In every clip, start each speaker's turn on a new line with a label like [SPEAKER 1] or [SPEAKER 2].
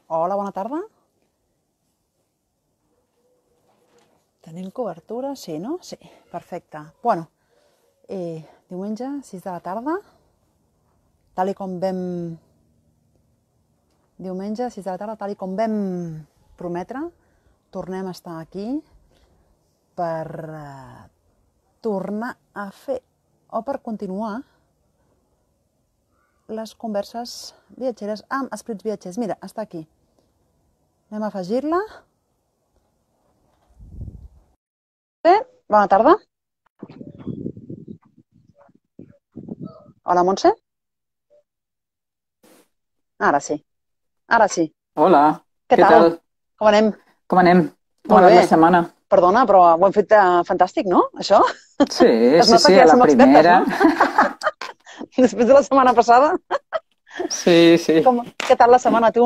[SPEAKER 1] Hola, bona tarda. Tenim cobertura? Sí, no? Sí, perfecte. Bueno, diumenge, 6 de la tarda, tal i com vam... Diumenge, 6 de la tarda, tal i com vam prometre, tornem a estar aquí per tornar a fer, o per continuar, les converses viatgeres amb escrits viatgers. Mira, està aquí. Anem a afegir-la. Bé, bona tarda. Hola, Montse? Ara sí. Ara sí.
[SPEAKER 2] Hola,
[SPEAKER 1] Què
[SPEAKER 2] què
[SPEAKER 1] tal?
[SPEAKER 2] tal?
[SPEAKER 1] Com anem?
[SPEAKER 2] Com anem? Com ha
[SPEAKER 1] Molt
[SPEAKER 2] anat
[SPEAKER 1] bé.
[SPEAKER 2] la setmana?
[SPEAKER 1] Perdona, però ho hem fet fantàstic, no? Això?
[SPEAKER 2] Sí,
[SPEAKER 1] Es
[SPEAKER 2] sí,
[SPEAKER 1] nota
[SPEAKER 2] sí,
[SPEAKER 1] que
[SPEAKER 2] a
[SPEAKER 1] ja
[SPEAKER 2] la
[SPEAKER 1] som expertes,
[SPEAKER 2] primera.
[SPEAKER 1] no? Després de la setmana passada.
[SPEAKER 2] Sí, sí.
[SPEAKER 1] Què tal la setmana, tu?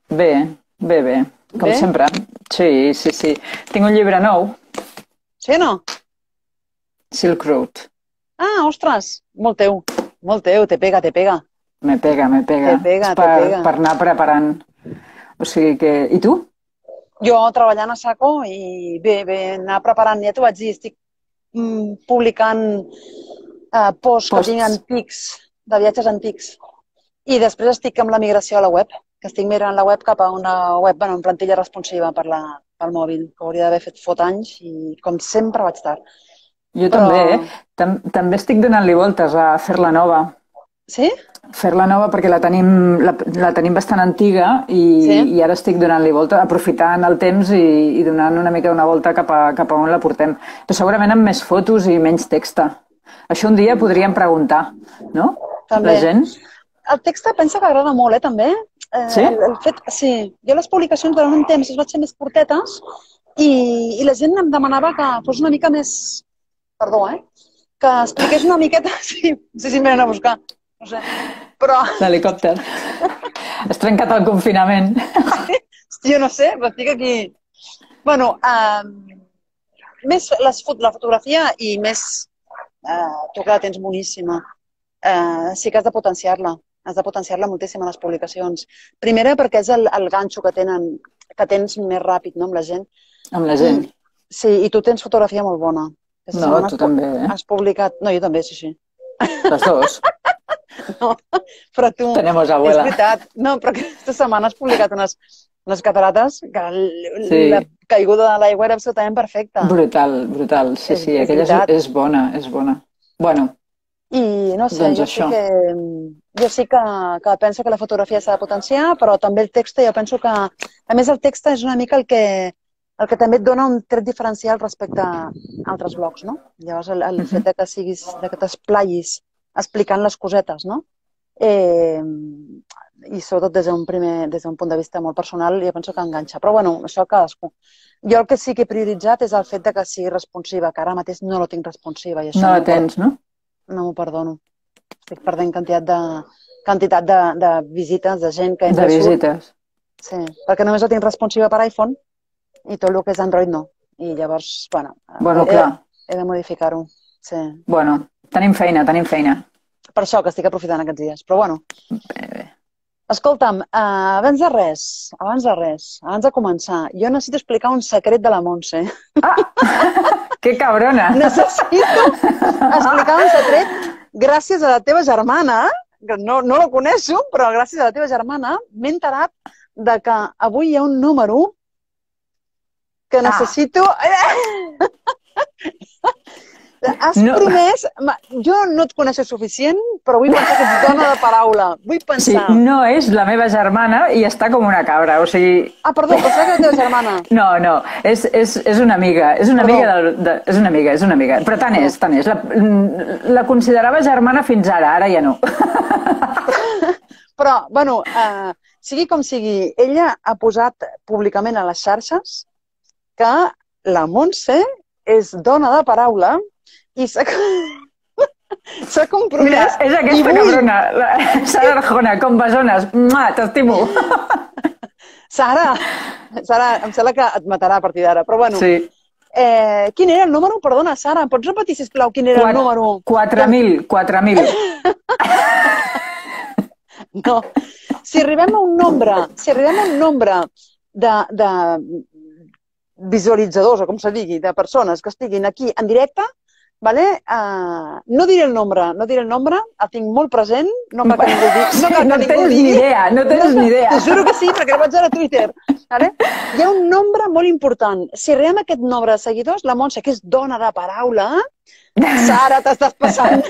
[SPEAKER 2] Bé, bé, bé. Com
[SPEAKER 1] Bé?
[SPEAKER 2] sempre. Sí, sí, sí. Tinc un llibre nou,
[SPEAKER 1] Sí o no?
[SPEAKER 2] Silk Road.
[SPEAKER 1] Ah, ostres! Molt teu. Molt teu. Te pega, te pega.
[SPEAKER 2] Me pega, me pega.
[SPEAKER 1] Te pega,
[SPEAKER 2] És
[SPEAKER 1] te pega.
[SPEAKER 2] per anar preparant. O sigui que... I tu?
[SPEAKER 1] Jo treballant a saco i bé, anar preparant, ja t'ho vaig dir, estic publicant posts que tinc
[SPEAKER 2] Posts.
[SPEAKER 1] antics, de viatges antics. I després estic amb la migració a la web, que estic migrant la web cap a una web, bueno, en plantilla responsiva pel mòbil, que hauria d'haver fet fot anys i com sempre vaig tard.
[SPEAKER 2] Jo
[SPEAKER 1] Però...
[SPEAKER 2] també, eh? També estic donant-li voltes a fer-la nova.
[SPEAKER 1] Sí?
[SPEAKER 2] Fer-la nova perquè la tenim bastant antiga
[SPEAKER 1] Sí?
[SPEAKER 2] i ara estic donant-li volta, aprofitant el temps i donant una mica una volta cap a on la portem. Però segurament amb més fotos i menys text. Això un dia podríem preguntar, no?
[SPEAKER 1] També.
[SPEAKER 2] La gent.
[SPEAKER 1] El text pensa que agrada molt, també.
[SPEAKER 2] Sí?
[SPEAKER 1] El fet, sí, jo les publicacions durant un temps les vaig fer més curtetes i la gent em demanava que fos una mica més... Perdó, que expliqués una miqueta... Sí, no sé si em venen a buscar, no sé. Però...
[SPEAKER 2] L'helicòpter. Has trencat el confinament.
[SPEAKER 1] Hosti, jo no sé, però estic aquí... Bueno, més la fotografia i més... tu que la tens boníssima. Sí que has de potenciar-la. Has de potenciar-la moltíssim a les publicacions. Primera, perquè és el ganxo que tens més ràpid, no?, amb la gent.
[SPEAKER 2] Amb la gent.
[SPEAKER 1] Sí, i tu tens fotografia molt bona. Aquesta
[SPEAKER 2] No,
[SPEAKER 1] setmana
[SPEAKER 2] tu també, eh?
[SPEAKER 1] has publicat... No, jo també, sí, sí.
[SPEAKER 2] Les dos.
[SPEAKER 1] No, però tu...
[SPEAKER 2] Tenemos
[SPEAKER 1] És
[SPEAKER 2] abuela.
[SPEAKER 1] veritat. No, però aquesta setmana has publicat unes catarates que
[SPEAKER 2] Sí.
[SPEAKER 1] la caiguda de l'aigua era absolutament perfecta.
[SPEAKER 2] Brutal, brutal. Sí, sí,
[SPEAKER 1] És
[SPEAKER 2] aquella
[SPEAKER 1] veritat.
[SPEAKER 2] és bona, és bona. Bueno,
[SPEAKER 1] I no sé,
[SPEAKER 2] doncs
[SPEAKER 1] jo
[SPEAKER 2] això.
[SPEAKER 1] sí que penso que la fotografia s'ha de potenciar, però també el text, jo penso que... A més, el text és una mica el que també et dona un tret diferencial respecte a altres blogs, no? Llavors, el fet de que t'esplayis explicant les cosetes, no? I sobretot des d'un punt de vista molt personal, jo penso que enganxa. Però, bueno, això cadascú. Jo el que sí que he prioritzat és el fet de que sigui responsiva, que ara mateix no la tinc responsiva. I això
[SPEAKER 2] No la tens, no?
[SPEAKER 1] no m'ho perdono. Estic perdent quantitat de visites, de gent que entra
[SPEAKER 2] De
[SPEAKER 1] i surt.
[SPEAKER 2] visites.
[SPEAKER 1] Sí, perquè només la tinc responsiva per iPhone i tot el que és Android no. I llavors, bueno,
[SPEAKER 2] Bueno, clar.
[SPEAKER 1] he de modificar-ho. Sí.
[SPEAKER 2] Bueno, tenim feina, tenim feina.
[SPEAKER 1] Per això que estic aprofitant aquests dies. Però bueno,
[SPEAKER 2] Bé, bé.
[SPEAKER 1] escolta'm, abans de començar, jo necessito explicar un secret de la Montse.
[SPEAKER 2] Que cabrona!
[SPEAKER 1] Necessito explicar un secret gràcies a la teva germana, que no la coneixo, però gràcies a la teva germana m'he enterat de que avui hi ha un número que necessito... Has promès... Jo no et coneixo suficient, però vull pensar que ets dona de paraula. Vull pensar...
[SPEAKER 2] Sí, no és la meva germana i està com una cabra, o sigui...
[SPEAKER 1] Ah, perdó, pensava que era la teva germana.
[SPEAKER 2] No, no, és una amiga, és una amiga, és una amiga, però tant és. La considerava germana fins ara ja no.
[SPEAKER 1] Però, bueno, sigui com sigui, ella ha posat públicament a les xarxes que la Montse és dona de paraula i s'ha compromès...
[SPEAKER 2] Mira, és aquesta cabrona, la Sara Arjona, com besones. T'estimo.
[SPEAKER 1] Sara, em sembla que et matarà a partir d'ara, però bueno.
[SPEAKER 2] Sí.
[SPEAKER 1] Quin era el número? Perdona, Sara, em pots repetir, sisplau, quin era el número?
[SPEAKER 2] 4.000.
[SPEAKER 1] No. Si arribem a un nombre de visualitzadors, o com se digui, de persones que estiguin aquí en directe, vale? No diré el nombre, el tinc molt present, no cal que ningú digui.
[SPEAKER 2] No tens ni idea, no tens ni idea.
[SPEAKER 1] T'ho juro que sí, perquè ho vaig veure a Twitter. Vale? Hi ha un nombre molt important. Si arribem a aquest nombre de seguidors, la Montse, que és dona de paraula, Sara, t'estàs passant.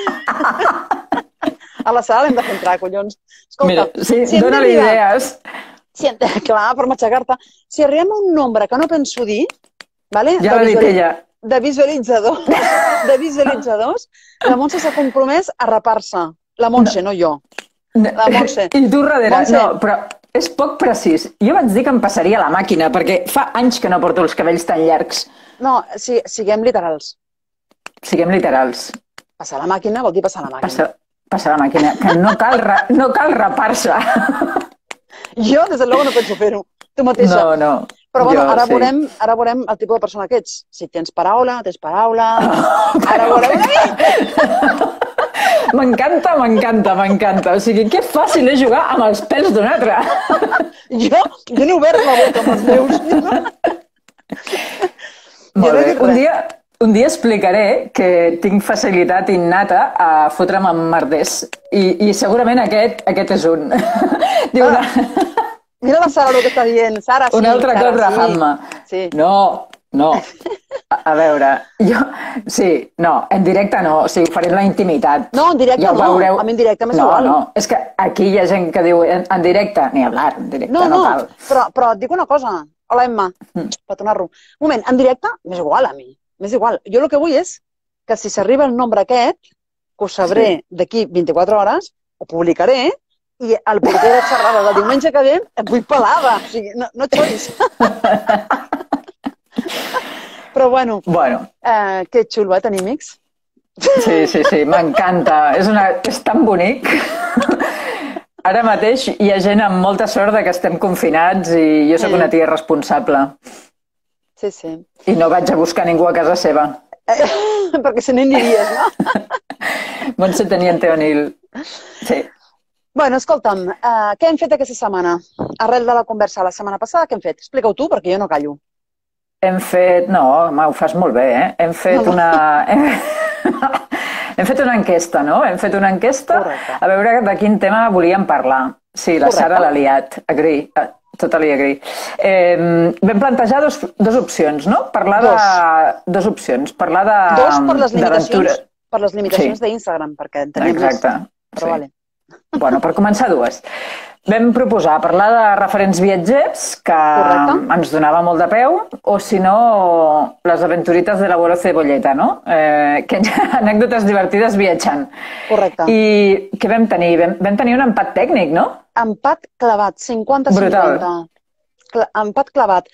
[SPEAKER 1] A la Sara l'hem de fer entrar, collons. Escolta,
[SPEAKER 2] mira, sí, dona-li idees.
[SPEAKER 1] Clar, per matxacar-te. Si arribem a un nombre que no penso dir, vale?
[SPEAKER 2] Ja l'ha dit ella.
[SPEAKER 1] De visualitzadors, la Montse s'ha compromès a rapar-se. La Montse, no jo. La Montse.
[SPEAKER 2] I tu darrere. No, però és poc precís. Jo vaig dir que em passaria la màquina, perquè fa anys que no porto els cabells tan llargs.
[SPEAKER 1] No, siguem literals.
[SPEAKER 2] Siguem literals.
[SPEAKER 1] Passar la màquina vol dir passar la màquina.
[SPEAKER 2] Passar la màquina, que no cal rapar-se.
[SPEAKER 1] Jo, des de luego, no penso fer-ho. Tu mateixa.
[SPEAKER 2] No.
[SPEAKER 1] Però bueno, ara veurem el tipus de persona que ets. Si tens paraula, Ara veurem...
[SPEAKER 2] M'encanta. O sigui, que fàcil és jugar amb els pèls d'un altre.
[SPEAKER 1] Jo n'he obert la boca amb els meus.
[SPEAKER 2] Molt bé. Un dia explicaré que tinc facilitat innata a fotre'm amb merders. I segurament aquest és un. Diu
[SPEAKER 1] Mira la Sara el que està dient. Sara, sí.
[SPEAKER 2] Un altre cop rafant-me.
[SPEAKER 1] Sí.
[SPEAKER 2] No. A veure, en directe no, o sigui, ho faré en la intimitat.
[SPEAKER 1] No, en directe no, a mi en directe m'és igual.
[SPEAKER 2] No, és que aquí hi ha gent que diu en directe, ni hablar, en directe no cal.
[SPEAKER 1] Però et dic una cosa. Hola, Emma, petonar-ro. Un moment, en directe m'és igual a mi, m'és igual. Jo el que vull és que si s'arriba el nombre aquest, que ho sabré d'aquí 24 hores, ho publicaré, i el porter de xerrada del diumenge que ve et vull pelada. O sigui, no xoris. Però bueno, que xulo, tenir amics.
[SPEAKER 2] Sí, m'encanta. És tan bonic. Ara mateix hi ha gent amb molta sort que estem confinats i jo sóc una tia responsable.
[SPEAKER 1] Sí.
[SPEAKER 2] I no vaig a buscar ningú a casa seva.
[SPEAKER 1] Perquè se n'aniries, no?
[SPEAKER 2] Montse Teniente O'Neill. Sí.
[SPEAKER 1] Bueno, escolta'm, què hem fet aquesta setmana? Arrel de la conversa la setmana passada, què hem fet? Explica-ho tu, perquè jo no callo.
[SPEAKER 2] Hem fet... No, ho fas molt bé, eh? Hem fet Hem fet una enquesta, no? Hem fet una enquesta a veure de quin tema volíem parlar. Sí, la Sara l'ha liat. Agree. Totally agree. Vam plantejar dos opcions, no? Parlar de... Dos opcions. Parlar de...
[SPEAKER 1] per les limitacions d'Instagram, perquè en tenim més.
[SPEAKER 2] Exacte.
[SPEAKER 1] Però vale.
[SPEAKER 2] Bueno, per començar, dues. Vam proposar parlar de referents viatgers, que ens donava molt de peu, o si no, les aventurites de l'abuelo Cebolleta, no? Que anècdotes divertides viatjant.
[SPEAKER 1] Correcte.
[SPEAKER 2] I què vam tenir? Vam tenir un empat tècnic, no?
[SPEAKER 1] Empat clavat, 50-50.
[SPEAKER 2] Brutal.
[SPEAKER 1] Empat clavat.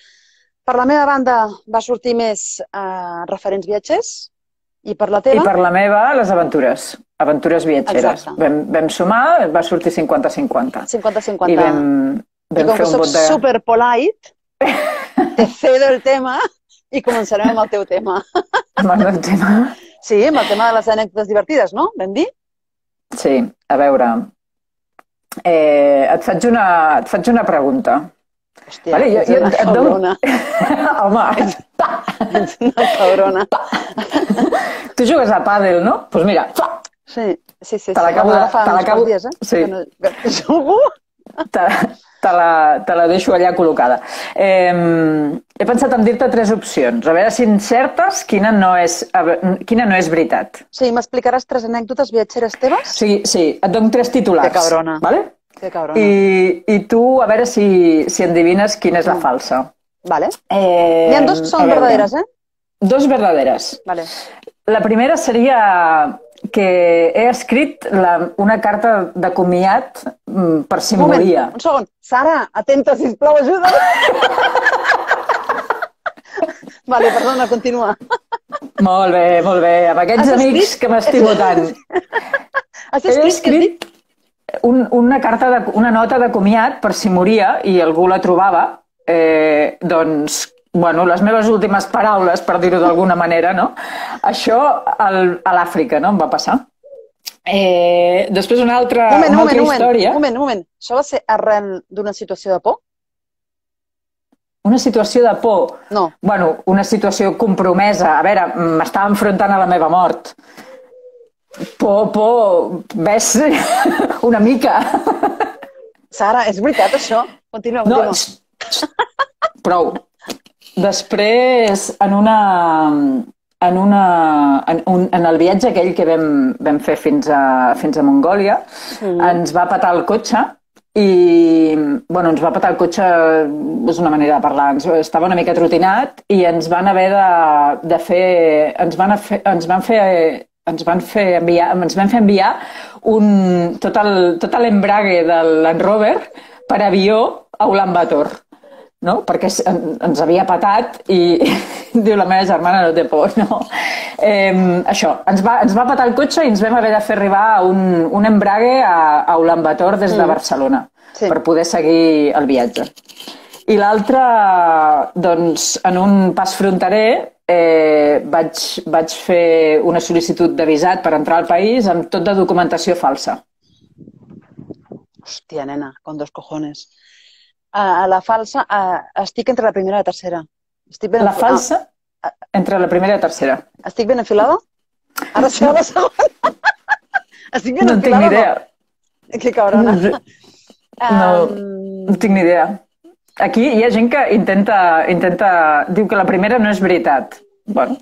[SPEAKER 1] Per la meva banda va sortir més referents viatgers, i per la teva?
[SPEAKER 2] I per la meva, les aventures. Aventures viatgeres. Vam sumar, va sortir 50-50.
[SPEAKER 1] 50-50.
[SPEAKER 2] I vam fer un vot de...
[SPEAKER 1] super polite, te cedo el tema i començarem amb el teu tema.
[SPEAKER 2] Amb el meu tema?
[SPEAKER 1] Sí, amb el tema de les anècdotes divertides, no? Vam dir?
[SPEAKER 2] Sí, a veure. Et faig una pregunta.
[SPEAKER 1] Hòstia, ets una cabrona.
[SPEAKER 2] Home.
[SPEAKER 1] Ets una cabrona.
[SPEAKER 2] Tu jugues a pàdel, no? Doncs mira.
[SPEAKER 1] Sí.
[SPEAKER 2] Te l'acabo...
[SPEAKER 1] Dies, eh?
[SPEAKER 2] Sí.
[SPEAKER 1] Jugo?
[SPEAKER 2] Te la deixo allà col·locada. He pensat en dir-te 3 opcions. A veure si encertes quina no és veritat.
[SPEAKER 1] Sí, m'explicaràs 3 anècdotes viatgeres teves?
[SPEAKER 2] Sí, et dono 3 titulars.
[SPEAKER 1] Que cabrona.
[SPEAKER 2] Vale?
[SPEAKER 1] Que cabrona.
[SPEAKER 2] I tu, a veure si endevines quina és la falsa.
[SPEAKER 1] Vale. N'hi ha 2 que són verdaderes, eh?
[SPEAKER 2] 2 verdaderes.
[SPEAKER 1] Vale.
[SPEAKER 2] La primera seria que he escrit una carta de comiat per si moria.
[SPEAKER 1] Un segon. Sara, atenta, sisplau, ajuda. Vale, perdona, continua.
[SPEAKER 2] Molt bé. Amb aquests amics que m'estimo tant. He escrit una nota de comiat per si moria i algú la trobava. Doncs, bueno, les meves últimes paraules, per dir-ho d'alguna manera, no? Això a l'Àfrica, no? Em va passar. Després una altra història.
[SPEAKER 1] Un moment. Això va ser arran d'una situació de por?
[SPEAKER 2] Una situació de por?
[SPEAKER 1] No.
[SPEAKER 2] Bueno, una situació compromesa. A veure, m'estava enfrontant a la meva mort. Por, ves una mica.
[SPEAKER 1] Sara, és veritat això? Continua.
[SPEAKER 2] No, prou. Després, en el viatge aquell que vam fer fins a Mongòlia, ens va petar el cotxe i, bueno, ens va petar el cotxe, és una manera de parlar, estava una mica trotinat i ens van haver de fer, ens van fer enviar tot l'embrague del Land Rover per avió a Ulaanbaatar. No? Perquè ens havia patat i diu la meva germana no té por, no? Això, ens va patar el cotxe i ens vam haver de fer arribar un embrague a Ulaanbaatar des de Barcelona per poder seguir el viatge. I l'altre, doncs, en un pas fronterer vaig fer una sol·licitud de visat per entrar al país amb tot de documentació falsa.
[SPEAKER 1] Hòstia, nena, con dos cojones. A la falsa, estic entre la primera i la tercera.
[SPEAKER 2] La falsa, entre la primera i la tercera.
[SPEAKER 1] Estic ben afilada? Ara serà la segona. Estic ben afilada?
[SPEAKER 2] No en tinc ni idea.
[SPEAKER 1] Que cabrona.
[SPEAKER 2] No tinc ni idea. Aquí hi ha gent que diu que la primera no és veritat. Bueno,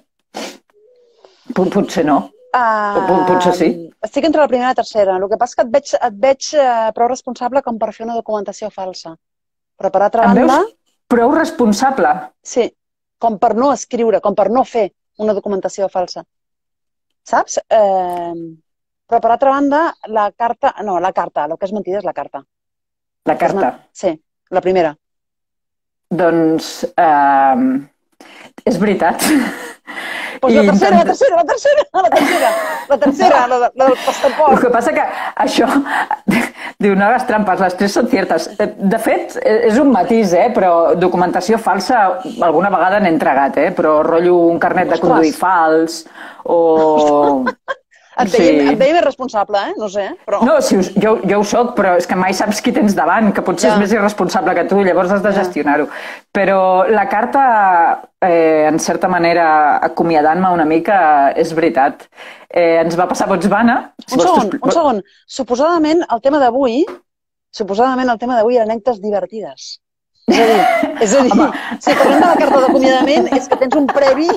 [SPEAKER 2] potser no. Potser sí.
[SPEAKER 1] Estic entre la primera i la tercera. El que passa és que et veig prou responsable com per fer una documentació falsa. Però per altra banda...
[SPEAKER 2] Em veus prou responsable?
[SPEAKER 1] Sí, com per no escriure, com per no fer una documentació falsa. Saps? Però per altra banda, la carta... No, la carta, el que és mentida és la carta.
[SPEAKER 2] La carta?
[SPEAKER 1] Sí, la primera.
[SPEAKER 2] Doncs és veritat.
[SPEAKER 1] Doncs la tercera, la del passaport.
[SPEAKER 2] El que passa que això... Diu, no hagas trampes, les tres són ciertes. De fet, és un matís, però documentació falsa alguna vegada n'he entregat, però rotllo un carnet de conduir fals o...
[SPEAKER 1] Et veiem irresponsable, no sé, però...
[SPEAKER 2] No, jo ho soc, però és que mai saps qui tens davant, que potser és més irresponsable que tu, llavors has de gestionar-ho. Però la carta, en certa manera, acomiadant-me una mica, és veritat. Ens va passar a Botswana...
[SPEAKER 1] Un segon. Suposadament, el tema d'avui eren anècdotes divertides. És a dir, si parlem de la carta d'acomiadament, és que tens un previ,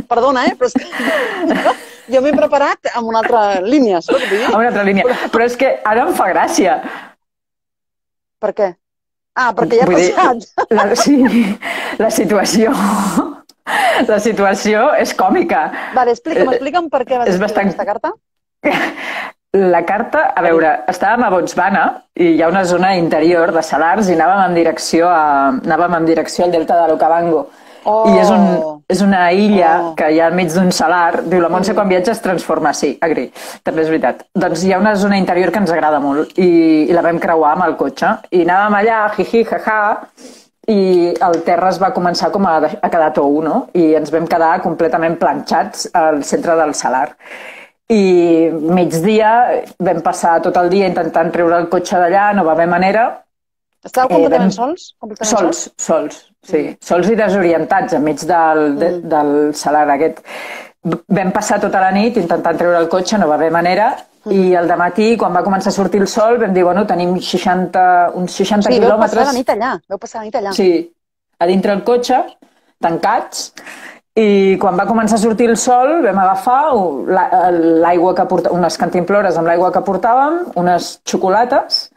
[SPEAKER 1] perdona, però és que jo m'he preparat amb una altra línia, saps què vull dir?
[SPEAKER 2] Amb una altra línia, però és que ara em fa gràcia.
[SPEAKER 1] Per què? Perquè ja ha passat.
[SPEAKER 2] Sí, la situació és còmica.
[SPEAKER 1] Vale, explica'm per què vas escriure aquesta carta.
[SPEAKER 2] La carta, a veure, estàvem a Botswana i hi ha una zona interior de salars i anàvem en direcció al delta de l'Okavango. I és una illa que hi ha al mig d'un salar. Diu, la Montse quan viatja es transforma. Sí, agri, també és veritat. Doncs hi ha una zona interior que ens agrada molt i la vam creuar amb el cotxe. I anàvem allà, jiji, jaja, i el terra es va començar com a quedar tou, no? I ens vam quedar completament planxats al centre del salar. I migdia vam passar tot el dia intentant treure el cotxe d'allà, no va haver manera.
[SPEAKER 1] Estàveu completament sols?
[SPEAKER 2] Sols, sí. Sols i desorientats enmig del salar aquest. Vam passar tota la nit intentant treure el cotxe, no va haver manera, i al dematí, quan va començar a sortir el sol, vam dir, bueno, tenim uns 60 quilòmetres...
[SPEAKER 1] Sí, vau passar la nit allà.
[SPEAKER 2] Sí, a dintre el cotxe, tancats, i quan va començar a sortir el sol vam agafar l'aigua que portàvem, unes cantimplores amb l'aigua que portàvem, unes xocolates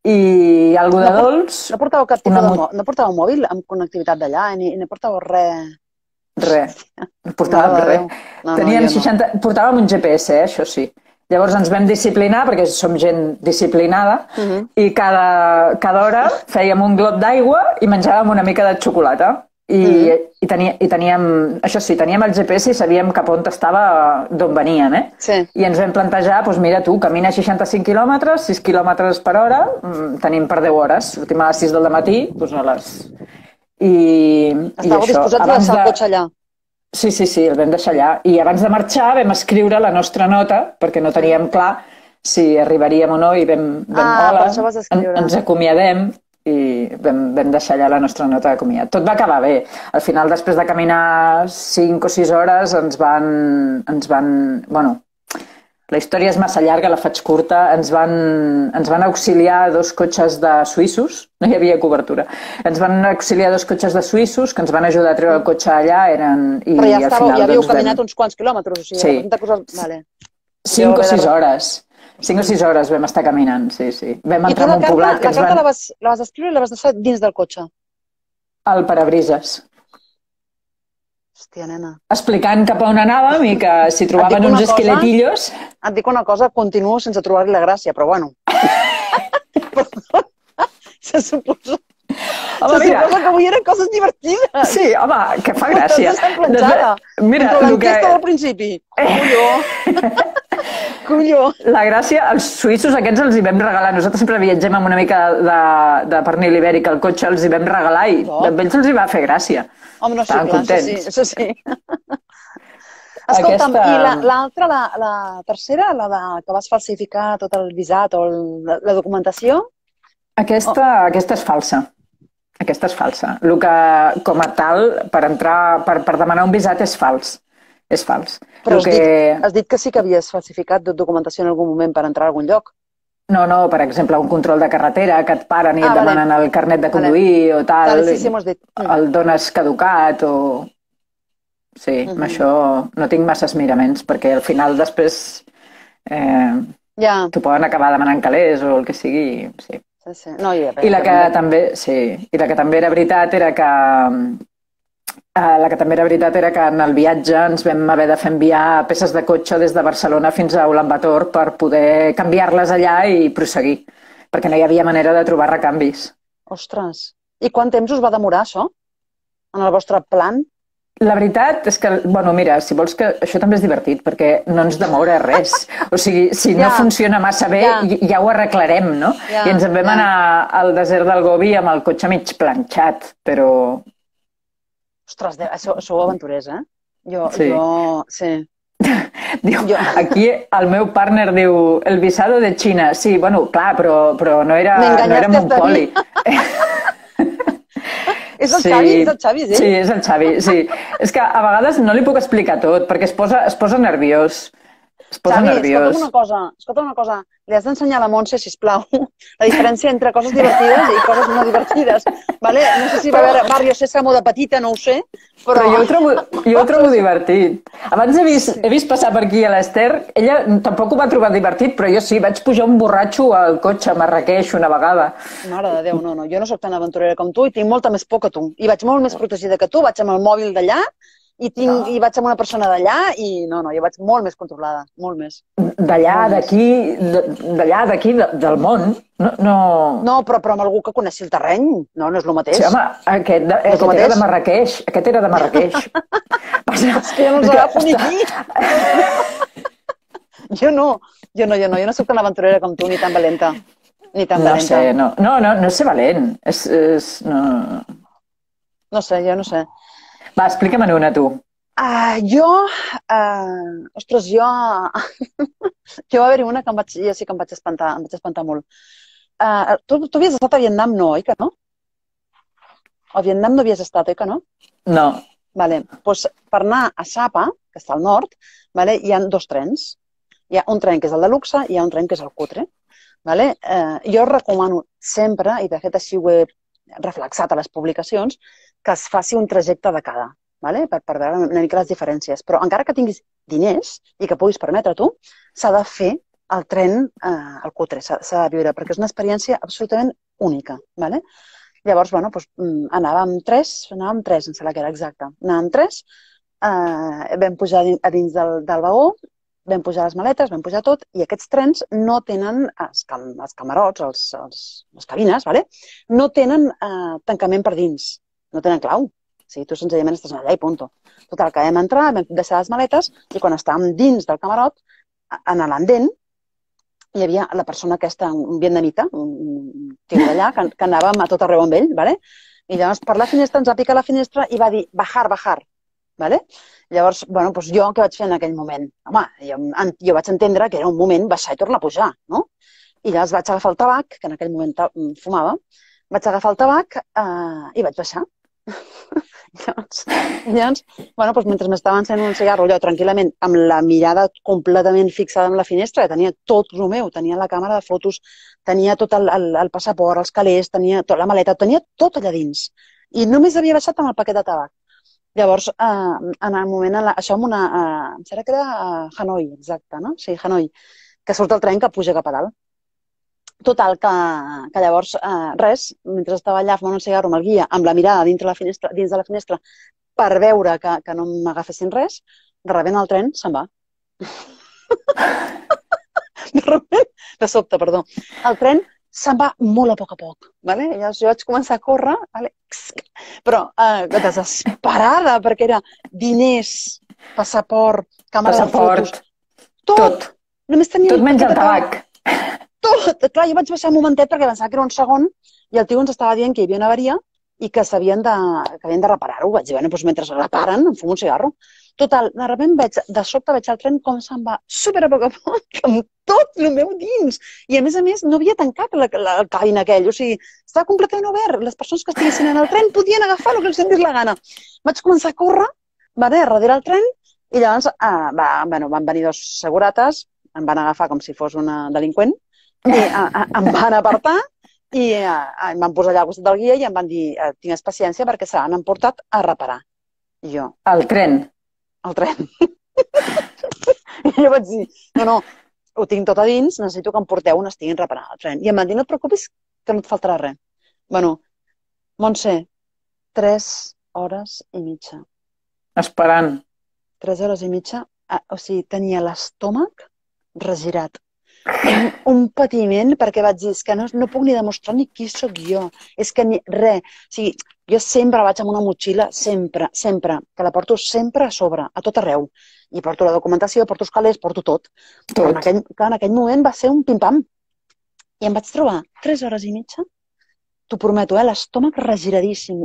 [SPEAKER 2] i algo de dolç.
[SPEAKER 1] No portàveu cap tipus no portàveu mòbil amb connectivitat d'allà ni portàveu res?
[SPEAKER 2] Res, no portàvem res. Portàvem un GPS, això sí. Llavors ens vam disciplinar, perquè som gent disciplinada, i cada hora fèiem un glop d'aigua i menjàvem una mica de xocolata. I teníem, això sí, teníem el GPS i sabíem cap on estava, d'on venien,
[SPEAKER 1] Sí.
[SPEAKER 2] I ens vam plantejar, doncs mira tu, camina 65 quilòmetres, 6 quilòmetres per hora, tenim per 10 hores, sortim a les 6 del matí, doncs a les...
[SPEAKER 1] Estàveu disposats a deixar el cotxe allà?
[SPEAKER 2] Sí, sí, sí, el vam deixar allà. I abans de marxar vam escriure la nostra nota, perquè no teníem clar si arribaríem o no, i
[SPEAKER 1] Per
[SPEAKER 2] hola,
[SPEAKER 1] això vas escriure.
[SPEAKER 2] ens acomiadem, i vam deixar allà la nostra nota de comiat. Tot va acabar bé. Al final, després de caminar 5 o 6 hores, bueno, la història és massa llarga, la faig curta. Ens van auxiliar 2 cotxes de suïssos, no hi havia cobertura. Ens van auxiliar 2 cotxes de suïssos que ens van ajudar a treure el cotxe allà.
[SPEAKER 1] Però ja havíeu caminat uns quants quilòmetres, o sigui,
[SPEAKER 2] sí.
[SPEAKER 1] Vale.
[SPEAKER 2] 5 o 6 hores. 5 o 6 hores vam estar caminant, sí, sí. Vam entrar en un poblat que
[SPEAKER 1] ens van... La carta la vas escriure i la vas deixar dins del cotxe?
[SPEAKER 2] Al parabrises.
[SPEAKER 1] Hòstia, nena.
[SPEAKER 2] Explicant cap a on anàvem i que si trobaven uns esqueletillos...
[SPEAKER 1] Et dic una cosa, continuo sense trobar-li la gràcia, però bueno. Se suposa... Home, mira, que avui eren coses divertides.
[SPEAKER 2] Sí, home, que fa gràcia.
[SPEAKER 1] Mira, l'enquesta del principi. Colló.
[SPEAKER 2] La gràcia, els suïssos aquests els hi vam regalar. Nosaltres sempre viatgem amb una mica de pernil ibèric al cotxe, els hi vam regalar i a ells els hi va fer gràcia.
[SPEAKER 1] Home, no, sí, clar, això sí. Escolta'm, i l'altra, la tercera, que vas falsificar tot el visat o la documentació?
[SPEAKER 2] Aquesta és falsa. Aquesta és falsa. El que, com a tal, per demanar un visat és fals. És fals.
[SPEAKER 1] Però has dit que sí que havies falsificat documentació en algun moment per entrar a algun lloc.
[SPEAKER 2] No, per exemple, un control de carretera que et paren i et demanen el carnet de conduir o tal.
[SPEAKER 1] Sí, m'ho has dit.
[SPEAKER 2] El dones caducat o... Sí, amb això no tinc masses miraments, perquè al final després t'ho poden acabar demanant calés o el que sigui, sí.
[SPEAKER 1] No,
[SPEAKER 2] I la que també era veritat era que en el viatge ens vam haver de fer enviar peces de cotxe des de Barcelona fins a Ulaanbaatar per poder canviar-les allà i prosseguir, perquè no hi havia manera de trobar recanvis.
[SPEAKER 1] Ostres! I quant temps us va demorar això? En el vostre plan?
[SPEAKER 2] La veritat és que, bueno, mira, si vols que... Això també és divertit, perquè no ens demora res. O sigui, si no funciona massa bé, ja ho arreglarem, no? I ens en vam anar al desert del Gobi amb el cotxe mig planxat, però...
[SPEAKER 1] Ostres, sou aventurers, eh? Sí.
[SPEAKER 2] Aquí el meu partner diu el visado de Xina. Sí, bueno, clar, però no era un poli.
[SPEAKER 1] És el Xavi, sí?
[SPEAKER 2] Sí, és el Xavi, sí. És que a vegades no li puc explicar tot, perquè es posa nerviós.
[SPEAKER 1] Xavi, escolta'm una cosa. Li has d'ensenyar a la Montse, sisplau, la diferència entre coses divertides i coses no divertides. No sé si va haver Barrio Sésamo de petita, no ho sé,
[SPEAKER 2] però jo ho trobo divertit. Abans he vist passar per aquí a l'Ester, ella tampoc ho va trobar divertit, però jo sí, vaig pujar un borratxo al cotxe a Marràqueix una vegada.
[SPEAKER 1] Mare de Déu, no, jo no sóc tan aventurera com tu i tinc molta més por que tu. I vaig molt més protegida que tu, vaig amb el mòbil d'allà, i vaig amb una persona d'allà i no, jo vaig molt més controlada, molt més.
[SPEAKER 2] D'allà, d'aquí, del món?
[SPEAKER 1] No, però amb algú que coneixi el terreny, no és el mateix.
[SPEAKER 2] Sí, home, aquest era de Marràqueix. Aquest era de Marràqueix.
[SPEAKER 1] És que jo no els agafo ni aquí. Jo no soc tan aventurera com tu, ni tan valenta.
[SPEAKER 2] No sé, no és ser valent.
[SPEAKER 1] No sé, jo no sé.
[SPEAKER 2] Va, explica'm una, tu.
[SPEAKER 1] Ostres, jo va haver-hi una que jo sí que em vaig espantar molt. Tu havies estat a Vietnam, no, oi que no? A Vietnam no havies estat, oi que no?
[SPEAKER 2] No.
[SPEAKER 1] Vale, doncs per anar a Sapa, que està al nord, hi ha 2 trens. Hi ha un tren que és el de luxe i hi ha un tren que és el cutre. Jo recomano sempre, i de fet així ho he reflexat a les publicacions, que es faci un trajecte de cada, per veure una mica les diferències. Però encara que tinguis diners i que puguis permetre tu, s'ha de fer el tren al cutre, s'ha de viure, perquè és una experiència absolutament única. Llavors, anàvem 3, em sembla que era exacte. Anàvem 3, vam pujar a dins del vagó, vam pujar les maletes, vam pujar tot, i aquests trens no tenen, els camarots, les cabines, no tenen tancament per dins, no tenen clau. O sigui, tu senzillament estàs allà i punto. Total, que vam entrar, vam deixar les maletes, i quan estàvem dins del camarot, en l'andent, hi havia la persona aquesta, un vietnamita, un tio d'allà, que anàvem a tot arreu amb ell, i llavors per la finestra ens va picar la finestra i va dir, bajar, bajar. Vale? Llavors, bueno, doncs jo què vaig fer en aquell moment? Home, jo vaig entendre que era un moment baixar i tornar a pujar, no? I llavors vaig agafar el tabac, que en aquell moment fumava, vaig agafar el tabac i vaig baixar. Llavors, bueno, doncs mentre m'estava encenent un cigarro allò tranquil·lament, amb la mirada completament fixada en la finestra, tenia tot el meu, tenia la càmera de fotos, tenia tot el passaport, els calés, tenia tota la maleta, tenia tot allà dins. I només havia baixat amb el paquet de tabac. Llavors, en el moment, això amb una... Em sembla que era a Hanoi, exacte, no? Sí, Hanoi, que surt el tren que puja cap a dalt. Total, que llavors, res, mentre estava allà fumant un cigarro amb el guia, amb la mirada dins de la finestra, per veure que no m'agafessin res, de sobte el tren se'n va. De sobte, perdó. El tren se'n va molt a poc. Vale? Llavors jo vaig començar a córrer, vale? Però desesperada, perquè era diners, passaport, càmera de fotos... Tot. Només tenia
[SPEAKER 2] tot menys el tabac.
[SPEAKER 1] Tot! Clar, jo vaig baixar un momentet perquè pensava que era un segon i el tio ens estava dient que hi havia una avaria i que havien de reparar-ho. Vaig dir, bueno, doncs mentre reparen, em fumo un cigarro. Total, de sobte veig el tren com se'n va super a poc, amb tot el meu dins. I a més, no havia tancat el cabin aquell. O sigui, estava completament obert. Les persones que estiguessin en el tren podien agafar el que els donés la gana. Vaig començar a córrer, darrere el tren, i llavors van venir dos segurates, em van agafar com si fos una delinqüent, i em van apartar i em van posar allà al costat del guia i em van dir, tingues paciència perquè se l'han emportat a reparar. I jo...
[SPEAKER 2] El tren?
[SPEAKER 1] El tren. I jo vaig dir, no, ho tinc tot a dins, necessito que em porteu on estiguin reparant el tren. I em van dir, no et preocupis, que no et faltarà res. Bueno, Montse, 3 hores i mitja.
[SPEAKER 2] Esperant.
[SPEAKER 1] 3 hores i mitja, o sigui, tenia l'estómac regirat. Un patiment, perquè vaig dir, és que no puc ni demostrar ni qui sóc jo. És que res. O sigui, jo sempre vaig amb una motxilla, sempre, que la porto sempre a sobre, a tot arreu. I porto la documentació, porto els calés, porto tot. Però en aquell moment va ser un pim-pam. I em vaig trobar 3 hores i mitja, t'ho prometo, l'estómac regiradíssim,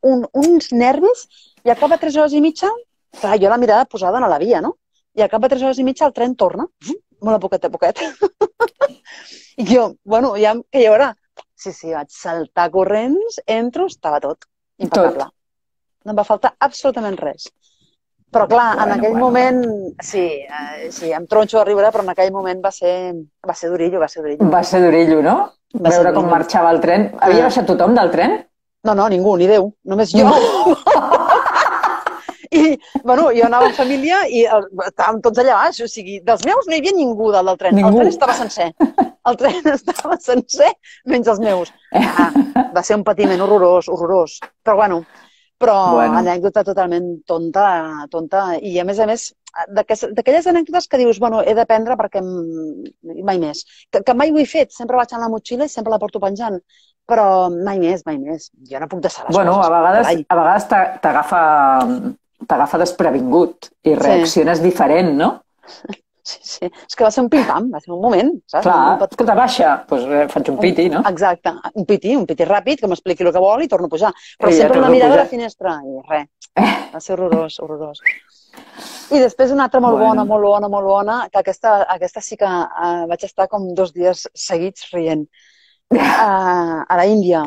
[SPEAKER 1] uns nervis, i al cap de 3 hores i mitja, clar, jo la mirada posada a la via, no? I al cap de 3 hores i mitja el tren torna, molt a poquet. I jo, bueno, ja que hi haurà? Sí, vaig saltar corrents, entro, estava tot impecable. No em va faltar absolutament res. Però clar, en aquell moment, sí, em tronxo a riure, però en aquell moment va ser durillo. Va
[SPEAKER 2] ser durillo, no? Veure com marxava el tren. Havia baixat tothom del tren?
[SPEAKER 1] No, ningú, ni Déu, només jo. I, bueno, jo anava en família i estàvem tots allà baix, o sigui, dels meus no hi havia ningú del tren. El tren estava sencer. El tren estava sencer, menys els meus. Va ser un patiment horrorós. Però anècdota totalment tonta. I a més, d'aquelles anècdotes que dius, bueno, he d'aprendre perquè mai més. Que mai ho he fet, sempre vaig en la motxilla i sempre la porto penjant. Però mai més. Jo no puc deixar les coses.
[SPEAKER 2] Bueno, a vegades t'agafa desprevingut i reacciones diferent, no?
[SPEAKER 1] Sí. És que va ser un pim-pam, va ser un moment, saps?
[SPEAKER 2] Clar, escolta, baixa, doncs faig un piti, no?
[SPEAKER 1] Exacte, un piti ràpid, que m'expliqui el que vol i torno a pujar. Però sempre una mirada a la finestra i res. Va ser horrorós. I després una altra molt bona, que aquesta sí que vaig estar com 2 dies seguits rient. A la Índia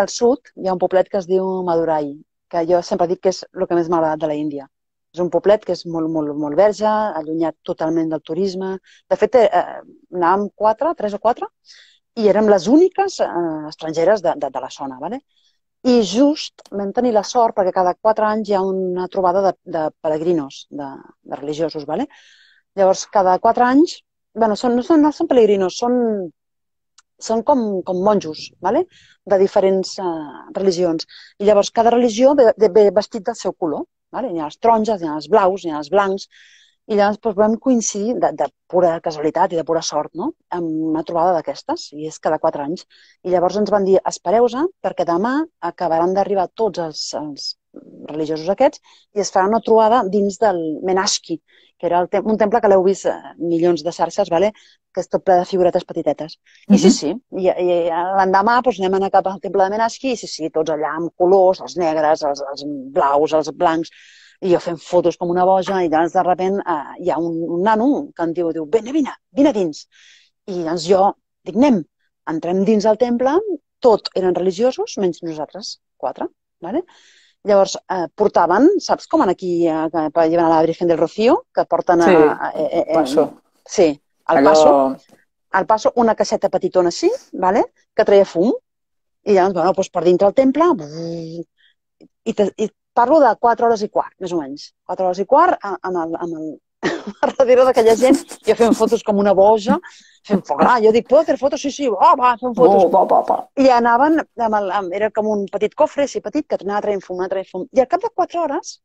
[SPEAKER 1] al sud, hi ha un poblet que es diu Madurai, que jo sempre dic que és el que més m'ha agradat de la Índia. És un poblet que és molt verge, allunyat totalment del turisme. De fet, anàvem 3 o 4, i érem les úniques estrangeres de la zona. I just vam tenir la sort, perquè cada 4 anys hi ha una trobada de peregrinos, de religiosos. Llavors, cada 4 anys, no són peregrinos, són com monjos, de diferents religions. I llavors cada religió ve vestit del seu color. Hi ha els taronges, hi ha els blaus, hi ha els blancs. I llavors vam coincidir de pura casualitat i de pura sort amb una trobada d'aquestes, i és cada 4 anys. I llavors ens van dir, espereu-se, perquè demà acabaran d'arribar tots els religiosos aquests i es farà una trobada dins del Menashki, que era un temple que l'heu vist milions de xarxes, que és tot ple de figuretes petitetes. I sí, i l'endemà anem a anar cap al temple de Menashki i sí, tots allà amb colors, els negres, els blaus, els blancs. I jo fent fotos com una boja i llavors de sobte hi ha un nano que em diu, vine a dins. I llavors jo dic, entrem dins el temple, tot eren religiosos, menys nosaltres, 4, ¿vale? Llavors portaven, saps com aquí per llevar a la Virgen del Rocío, que porten
[SPEAKER 2] Passo.
[SPEAKER 1] Sí, al passo una caixeta petitona així, ¿vale? Que treia fum. I llavors, bueno, doncs per dintre el temple, i parlo de 4 hores i quart, més o menys. 4 hores i quart, darrere d'aquella gent, jo fent fotos com una boja, fent fotos. Jo dic, ¿puedo hacer fotos? Sí, va, fent fotos. I anaven, era com un petit cofre, així petit, que anava traient fum. I al cap de 4 hores,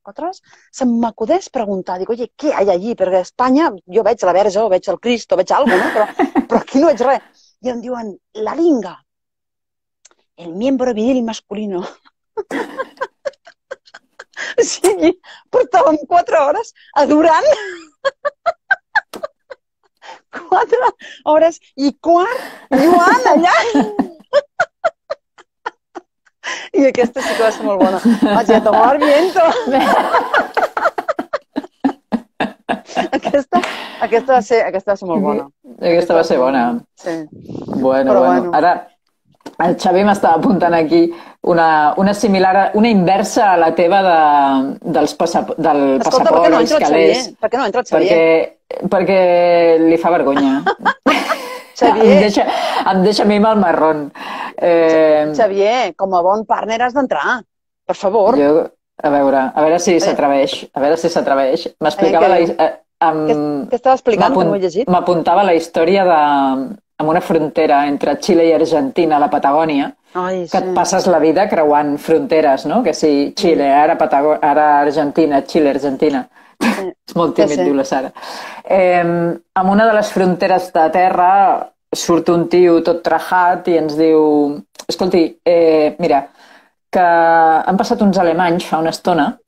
[SPEAKER 1] se m'acudeix preguntar, dic, oye, què hi ha allí? Perquè a Espanya jo veig la Verge, o veig el Cristo, veig alguna cosa, no? Però aquí no veig res. I em diuen, la linga, el miembro viril masculino. O sigui, portàvem 4 hores adorant. 4 hores i quart lluant allà. I aquesta sí que va ser molt bona. Vaig a tomar viento. Aquesta va ser molt bona.
[SPEAKER 2] Aquesta va ser bona.
[SPEAKER 1] Sí.
[SPEAKER 2] Bueno. Ara, el Xavi m'estava apuntant aquí una similar, una inversa a la teva del passaport, els calés.
[SPEAKER 1] Per què no entra el Xavier?
[SPEAKER 2] Perquè li fa vergonya.
[SPEAKER 1] Xavier.
[SPEAKER 2] Em deixa a mi amb el marrón.
[SPEAKER 1] Xavier, com a bon partner has d'entrar. Per favor.
[SPEAKER 2] A veure si s'atreveix. M'explicava
[SPEAKER 1] què estava explicant, que no ho he llegit?
[SPEAKER 2] M'apuntava la història amb una frontera entre Xile i Argentina, a la Patagònia, que et passes la vida creuant fronteres, no? Que si Xile, ara Argentina, Xile, Argentina. És molt tímid, diu la Sara. Amb una de les fronteres de terra surt un tio tot trajat i ens diu, escolti, mira, que han passat uns alemanys fa una estona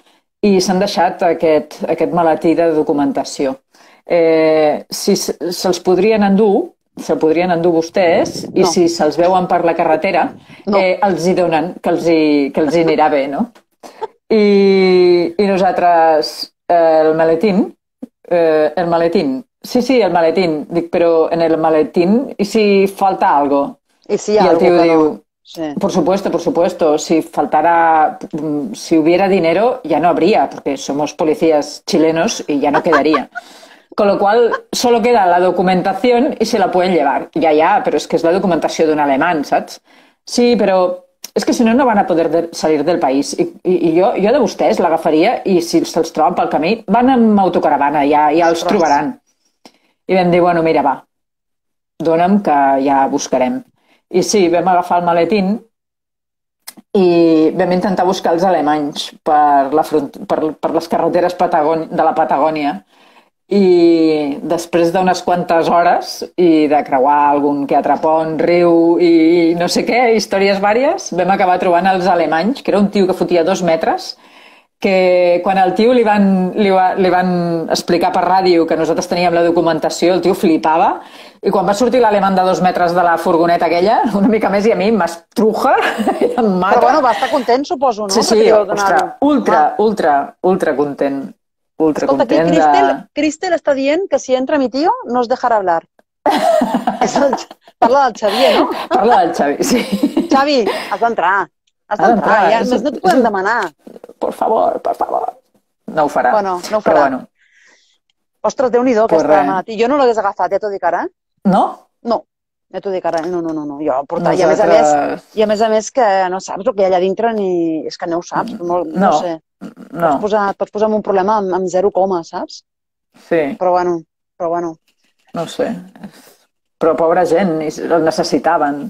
[SPEAKER 2] i s'han deixat aquest maletí de documentació. Si se'ls podrien endur, se'l podrien endur vostès, i si se'ls veuen per la carretera, els hi donen, que els hi anirà bé, no? I nosaltres, el maletín, sí, el maletín, dic, però en el maletín, ¿y si falta algo?
[SPEAKER 1] Y si el tío
[SPEAKER 2] diu, por supuesto, si hubiera dinero ya no habría, porque somos policías chilenos y ya no quedaría. Con lo cual, solo queda la documentación y se la pueden llevar. Ya, pero es que es la documentación de un alemán, ¿sabes? Sí, pero es que si no, no van a poder salir del país. I jo de vostès l'agafaria i si se'ls troben pel camí, van amb autocaravana, ja els trobaran. I vam dir, bueno, mira, va, dona'm que ja buscarem. I sí, vam agafar el maletín i vam intentar buscar els alemanys per les carreteres de la Patagònia. I després d'unes quantes hores i de creuar algun que altre pont, riu i no sé què, històries vàries, vam acabar trobant els alemanys, que era un tio que fotia 2 metres, que quan al tio li van explicar per ràdio que nosaltres teníem la documentació, el tio flipava, i quan va sortir l'alemany de 2 metres de la furgoneta aquella, una mica més, i a mi m'estruja i em mata.
[SPEAKER 1] Però bueno, va estar content, suposo, no?
[SPEAKER 2] Sí, ostres, ultra content.
[SPEAKER 1] Escolta, aquí Cristel està dient que si entra mi tío no es dejarà hablar. Parla del Xavier, no?
[SPEAKER 2] Parla del Xavi, sí.
[SPEAKER 1] Xavi, has d'entrar. Ja més no t'ho podem demanar.
[SPEAKER 2] Por favor. No ho farà.
[SPEAKER 1] Bueno, no ho farà.
[SPEAKER 2] Bueno.
[SPEAKER 1] Ostres, Déu-n'hi-do, aquesta malaltia. Jo no l'hagués agafat, ja t'ho dic ara.
[SPEAKER 2] No?
[SPEAKER 1] No. Ja t'ho dic ara. No. Jo portar. I a més a més que no saps el que hi ha allà dintre ni... És que no ho saps. No sé.
[SPEAKER 2] No.
[SPEAKER 1] Pots posar en un problema amb 0, saps?
[SPEAKER 2] Sí.
[SPEAKER 1] Però bueno.
[SPEAKER 2] No sé. Però pobra gent, el necessitaven.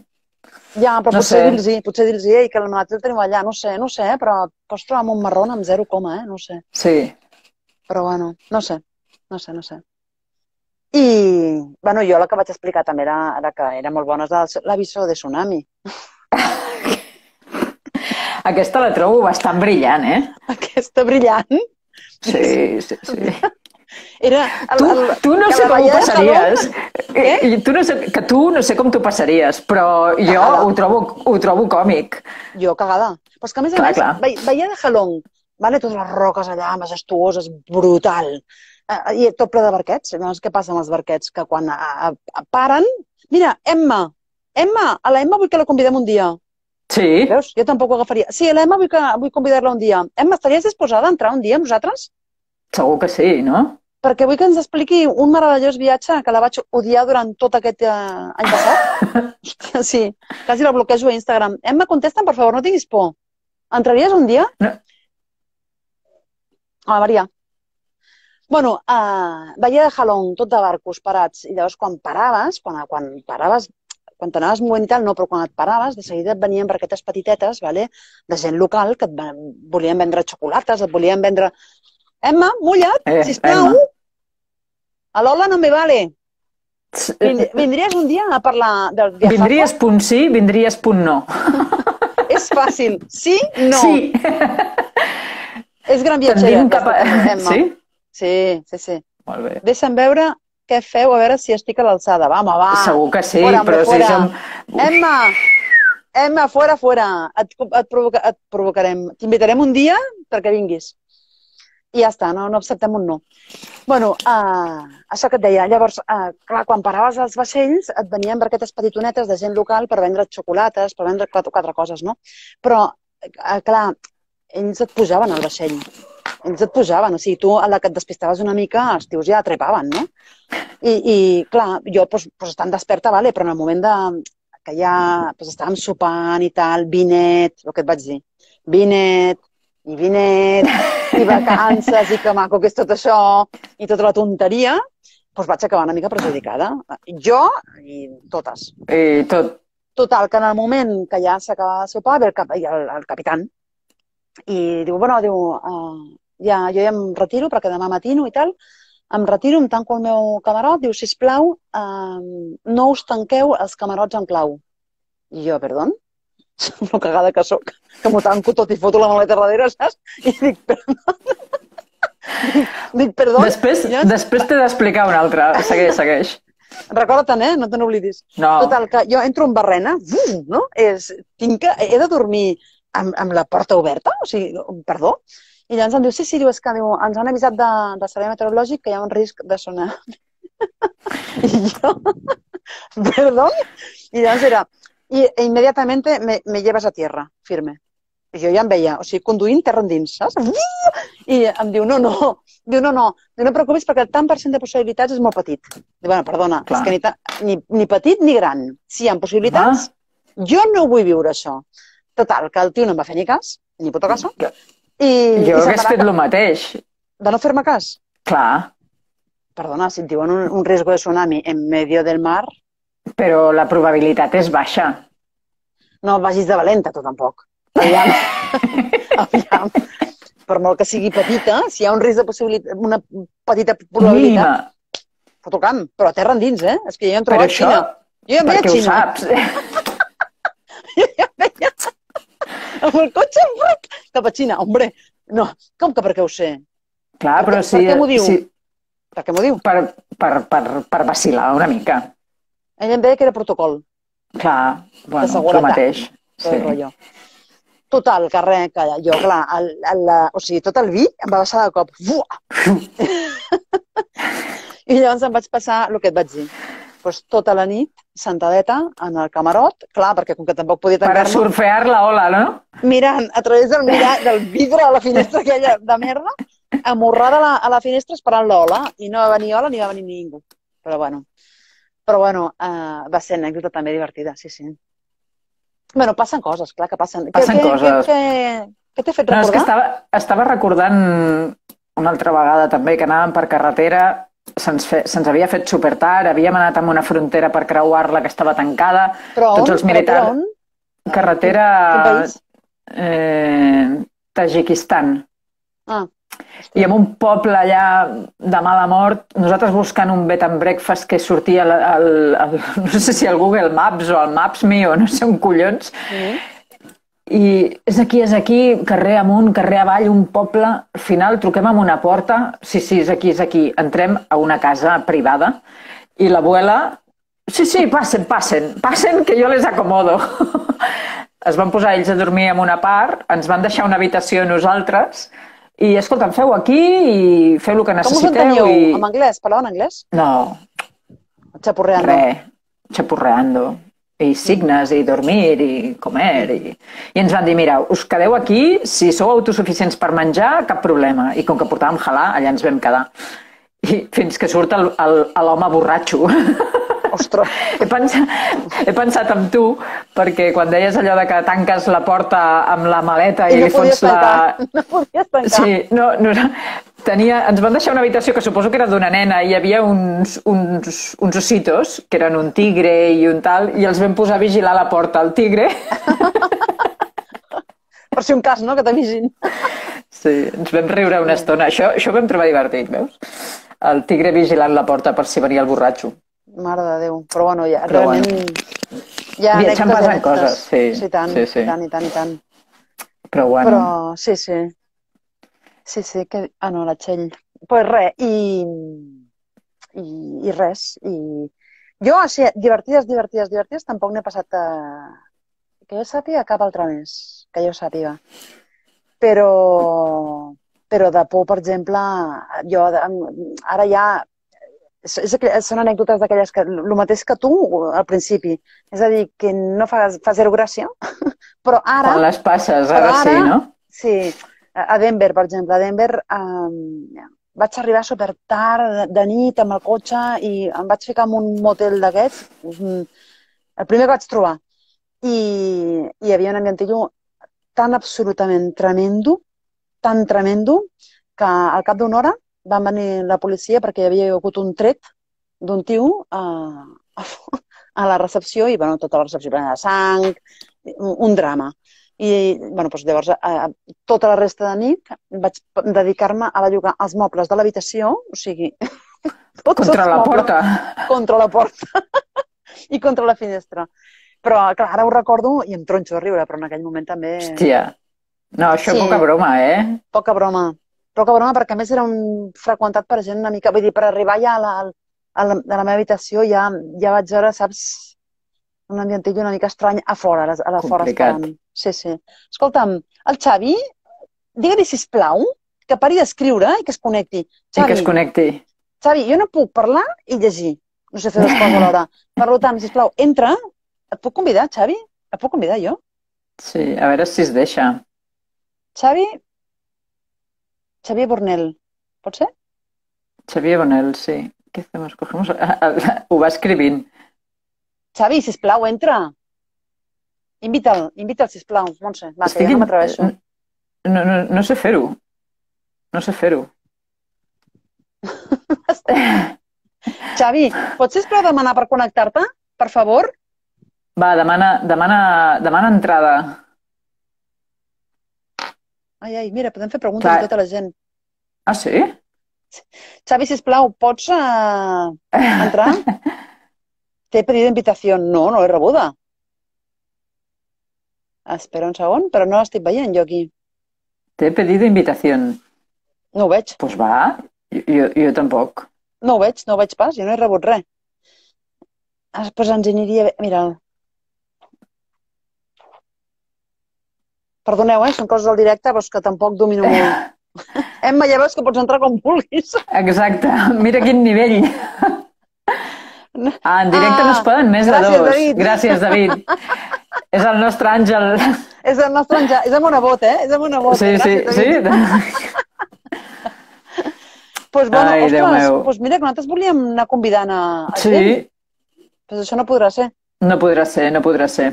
[SPEAKER 1] Ja, però potser dir-los, que el malaltí el teniu allà, no sé, però pots trobar amb un marrón amb 0, no sé.
[SPEAKER 2] Sí.
[SPEAKER 1] Però bueno, no sé. I, bueno, jo la que vaig explicar també era que era molt bona, l'aviso de tsunami.
[SPEAKER 2] Aquesta la trobo bastant brillant,
[SPEAKER 1] Aquesta brillant?
[SPEAKER 2] Sí.
[SPEAKER 1] Era
[SPEAKER 2] tu no sé com ho passaries. Que tu no sé com t'ho passaries, però jo ho trobo còmic.
[SPEAKER 1] Jo cagada. Però és que a més veia de Jalón vale? Totes les roques allà, majestuoses, brutal. I tot ple de barquets. Llavors, què passa amb els barquets? Que quan paren... Mira, Emma, a la Emma vull que la convidem un dia.
[SPEAKER 2] Sí.
[SPEAKER 1] Veus? Jo tampoc ho agafaria. Sí, a la Emma vull convidar-la un dia. Emma, estaries disposada a entrar un dia amb nosaltres?
[SPEAKER 2] Segur que sí, no?
[SPEAKER 1] Perquè vull que ens expliqui un meravellós viatge que la vaig odiar durant tot aquest any passat. Sí, quasi la bloquejo a Instagram. Emma, contesta'm, per favor, no tinguis por. Entraries un dia?
[SPEAKER 2] No.
[SPEAKER 1] Hola, Maria. Bueno, veia de Jalón, tot de barcos parats, i llavors quan paraves, quan t'anaves movent i tal, no, però quan et paraves, de seguida et venien barquetes petitetes, vale? De gent local, que et volien vendre xocolates, et volien vendre... Emma, mulla't, sisplau!
[SPEAKER 2] Emma.
[SPEAKER 1] A l'Ola no me vale. Vindries un dia a parlar del viajar?
[SPEAKER 2] Vindries punt sí, vindries punt no.
[SPEAKER 1] És fàcil. Sí, no.
[SPEAKER 2] Sí.
[SPEAKER 1] És gran viatgera, Emma.
[SPEAKER 2] Sí?
[SPEAKER 1] Sí.
[SPEAKER 2] Molt bé.
[SPEAKER 1] Deixa'm veure què feu, a veure si estic a l'alçada. Va.
[SPEAKER 2] Segur que sí,
[SPEAKER 1] fora,
[SPEAKER 2] però
[SPEAKER 1] fora.
[SPEAKER 2] si som...
[SPEAKER 1] Emma, fora. Et provocarem. T'invitarem un dia perquè vinguis. I ja està, no acceptem un no. Bueno, això que et deia. Llavors, clar, quan paraves als vaixells, et venien barquetes petitonetes de gent local per vendre xocolates, per vendre quatre coses, no? Però, clar, ells et pujaven al vaixell. Ells et pujaven, o sigui, tu a la que et despistaves una mica, els tios ja trepaven, no? I clar, jo estant desperta, vale, però en el moment que ja estàvem sopant i tal, vinet, el que et vaig dir, vinet, i vacances, i que maco que és tot això, i tota la tonteria, doncs vaig acabar una mica perjudicada. Jo i totes.
[SPEAKER 2] I tot.
[SPEAKER 1] Total, que en el moment que ja s'acaba de sopar, ve el capitán, i diu, bueno, jo ja em retiro perquè demà matino i tal, em retiro, em tanco el meu camarot, diu, sisplau, no us tanqueu els camarots en clau. I jo, perdó? Una cagada que soc, que m'ho tanco tot i foto la maleta darrere, saps? I dic, perdó. Dic, perdó.
[SPEAKER 2] Després t'he d'explicar una altra. Segueix.
[SPEAKER 1] Recorda-te'n, no te n'oblidis.
[SPEAKER 2] No.
[SPEAKER 1] Total, que jo entro en barrena, no? He de dormir amb la porta oberta? O sigui, perdó? I llavors em diu, sí, diu, és que ens han avisat del servei meteorològic que hi ha un risc de sonar. I jo, perdó? I llavors era, i immediatamente me llevas a tierra, firme. I jo ja em veia, o sigui, conduint terra endins, saps? I em diu, no, preocupis perquè el tant per cent de possibilitats és molt petit. Diu, bueno, perdona, és que ni petit ni gran. Si hi ha possibilitats, jo no vull viure això. Total, que el tio no em va fer ni cas, ni puto caso.
[SPEAKER 2] Jo hagués fet el mateix.
[SPEAKER 1] De no fer-me cas?
[SPEAKER 2] Clar.
[SPEAKER 1] Perdona, si et diuen un riesgo de tsunami en medio del mar...
[SPEAKER 2] Però la probabilitat és baixa.
[SPEAKER 1] No vagis de valenta, tu tampoc. Aviam. Per molt que sigui petita, si hi ha un risc de possibilitat, una petita probabilitat... Foto camp, però a terra endins, eh? És que jo ja em trobo a Xina. Jo ja em veia a Xina.
[SPEAKER 2] Perquè ho saps.
[SPEAKER 1] Jo ja em veia... Amb el cotxe cap a Xina, hombre. No, com que perquè ho sé?
[SPEAKER 2] Clar, però sí...
[SPEAKER 1] Per què m'ho diu? Per què m'ho diu?
[SPEAKER 2] Per vacilar una mica.
[SPEAKER 1] Ell em deia que era protocol.
[SPEAKER 2] Clar, bueno, el mateix.
[SPEAKER 1] Sí. Total, que res, que jo, clar, o sigui, tot el vi em va baixar de cop. I llavors em vaig passar el que et vaig dir. Doncs tota la nit, sentadeta, en el camarot, clar, perquè com que tampoc podia tancar-me...
[SPEAKER 2] Per surfear la ola, no?
[SPEAKER 1] Mirant a través del vidre de la finestra aquella de merda, amorrada a la finestra esperant l'ola, i no va venir ola ni va venir ningú. Però bueno, va ser anècdota també divertida, sí. Bueno, passen coses, clar que passen.
[SPEAKER 2] Passen coses.
[SPEAKER 1] Què t'he fet recordar?
[SPEAKER 2] No, és que estava recordant una altra vegada també que anàvem per carretera, se'ns havia fet super tard, havíem anat a una frontera per creuar-la que estava tancada, tots els militars...
[SPEAKER 1] Però on?
[SPEAKER 2] Carretera...
[SPEAKER 1] Quin país?
[SPEAKER 2] Tadjikistan.
[SPEAKER 1] I
[SPEAKER 2] en un poble allà de mala mort, nosaltres buscant un bed and breakfast que sortia no sé si al Google Maps o al Maps.me o no sé on collons, i és aquí, carrer amunt, carrer avall, un poble, al final truquem amb una porta, sí, és aquí, entrem a una casa privada i l'abuela, sí, passen, que jo les acomodo. Es van posar ells a dormir en una part, ens van deixar una habitació a nosaltres I, escolta'm, feu aquí i feu el que
[SPEAKER 1] Com us
[SPEAKER 2] necessiteu
[SPEAKER 1] enteníeu?
[SPEAKER 2] i...
[SPEAKER 1] En anglès? Parlaven anglès?
[SPEAKER 2] No,
[SPEAKER 1] Xapurreando.
[SPEAKER 2] xapurreando. I signes, i dormir, i comer. I ens van dir, mira, us quedeu aquí, si sou autosuficients per menjar, cap problema. I com que portàvem halà, allà ens vam quedar. I fins que surt l'home borratxo.
[SPEAKER 1] Ostres.
[SPEAKER 2] He pensat en tu, perquè quan deies allò de que tanques la porta amb la maleta i
[SPEAKER 1] no
[SPEAKER 2] li fots la...
[SPEAKER 1] No podies tancar.
[SPEAKER 2] Sí, ens van deixar una habitació que suposo que era d'una nena i hi havia uns ositos, que eren un tigre i un tal, i els vam posar a vigilar la porta, el tigre.
[SPEAKER 1] Per si un cas, no?, que t'avisin.
[SPEAKER 2] Sí, ens vam riure una estona. Això ho vam trobar divertit, veus? El tigre vigilant la porta per si venia el borratxo.
[SPEAKER 1] Mare de Déu. Però bueno, ja, realment... Ja
[SPEAKER 2] viatjant passant coses, sí.
[SPEAKER 1] Sí, tant,
[SPEAKER 2] sí.
[SPEAKER 1] i tant.
[SPEAKER 2] Però bueno...
[SPEAKER 1] Però sí. Sí, que... Ah, no, la Txell. Pues res, i res. Jo, així, divertides, tampoc n'he passat que jo sàpiga cap altre mes, que jo sàpiga. Però de por, per exemple, jo ara ja... Són anècdotes d'aquelles que... El mateix que tu al principi. És a dir, que no fa zero gràcia, però ara...
[SPEAKER 2] Quan les passes, ara sí, no?
[SPEAKER 1] Sí. A Denver, per exemple. A Denver vaig arribar super tard, de nit, amb el cotxe, i em vaig ficar en un motel d'aquests, el primer que vaig trobar. I hi havia un ambientillo tan absolutament tremendo, que al cap d'una hora van venir la policia perquè hi havia hagut un tret d'un tio a la recepció i, bueno, tota la recepció plena de sang, un drama. I, bueno, doncs llavors, tota la resta de nit vaig dedicar-me a bellugar els mobles de l'habitació, o sigui...
[SPEAKER 2] Contra la porta.
[SPEAKER 1] Contra la porta. I contra la finestra. Però, clar, ara ho recordo i em tronxo de riure, però en aquell moment també... Hòstia.
[SPEAKER 2] No, això sí. Poca broma, eh?
[SPEAKER 1] Poca broma, perquè a més era freqüentat per gent una mica... Vull dir, per arribar ja a la meva habitació ja vaig veure, saps, un ambientillo una mica estrany a fora, a la fora esperant. Sí. Escolta'm, el Xavi, digue-li, sisplau, que pari d'escriure i que es connecti.
[SPEAKER 2] Xavi, que es connecti.
[SPEAKER 1] Xavi, jo no puc parlar i llegir. No sé fer dues coses alhora. Per tant, sisplau, entra. Et puc convidar, Xavi? Et puc convidar jo?
[SPEAKER 2] Sí, a veure si es deixa.
[SPEAKER 1] Xavier Bornel, pot ser?
[SPEAKER 2] Xavier Bornel, sí. Què fem? Ho va escrivint.
[SPEAKER 1] Xavi, sisplau, entra. Invita'l, sisplau, Montse. Va, que ja no m'atreveixo.
[SPEAKER 2] No sé fer-ho.
[SPEAKER 1] Xavi, pots, sisplau, demanar per connectar-te? Per favor?
[SPEAKER 2] Va, demana entrada.
[SPEAKER 1] Ai, mira, podem fer preguntes a tota la gent.
[SPEAKER 2] Ah, sí?
[SPEAKER 1] Xavi, sisplau, pots entrar? T'he pedido invitación. No l'he rebuda. Espera un segon, però no l'estic veient jo aquí.
[SPEAKER 2] T'he pedido invitación.
[SPEAKER 1] No ho veig.
[SPEAKER 2] Pues va, jo tampoc.
[SPEAKER 1] No ho veig pas, jo no he rebut res. Pues ens aniria bé. Mira'l. Perdoneu, són coses del directe, però és que tampoc domino molt. Emma, ja veus que pots entrar com vulguis.
[SPEAKER 2] Exacte, mira quin nivell. En directe no es poden més de dos.
[SPEAKER 1] David.
[SPEAKER 2] Gràcies, David. És el nostre àngel.
[SPEAKER 1] És el nostre àngel. És el monebot, eh? És el monebot.
[SPEAKER 2] Sí.
[SPEAKER 1] Pues bueno, ostres, mira que nosaltres volíem anar convidant a gent.
[SPEAKER 2] Sí.
[SPEAKER 1] Pues això no podrà ser.
[SPEAKER 2] No podrà ser.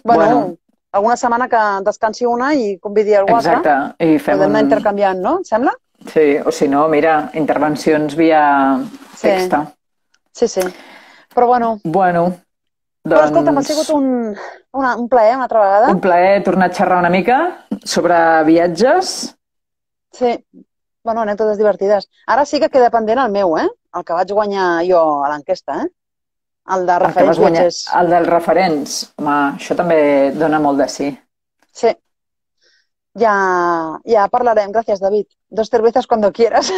[SPEAKER 1] Bueno, alguna setmana que descansi una i convidi algú altre.
[SPEAKER 2] Exacte. I fem
[SPEAKER 1] podem anar intercanviant, no? Et sembla?
[SPEAKER 2] Sí, o si no, mira, intervencions via texta.
[SPEAKER 1] Sí. Però bueno.
[SPEAKER 2] Doncs...
[SPEAKER 1] Però escolta, m'ha sigut un plaer una altra vegada.
[SPEAKER 2] Un plaer tornar a xerrar una mica sobre viatges.
[SPEAKER 1] Sí. Bueno, anècdotes divertides. Ara sí que queda pendent el meu, el que vaig guanyar jo a l'enquesta, el de referents viatgers.
[SPEAKER 2] El dels referents. Home, això també dona molt de sí.
[SPEAKER 1] Sí. Ja parlarem. Gràcies, David. 2 cervezas cuando quieras.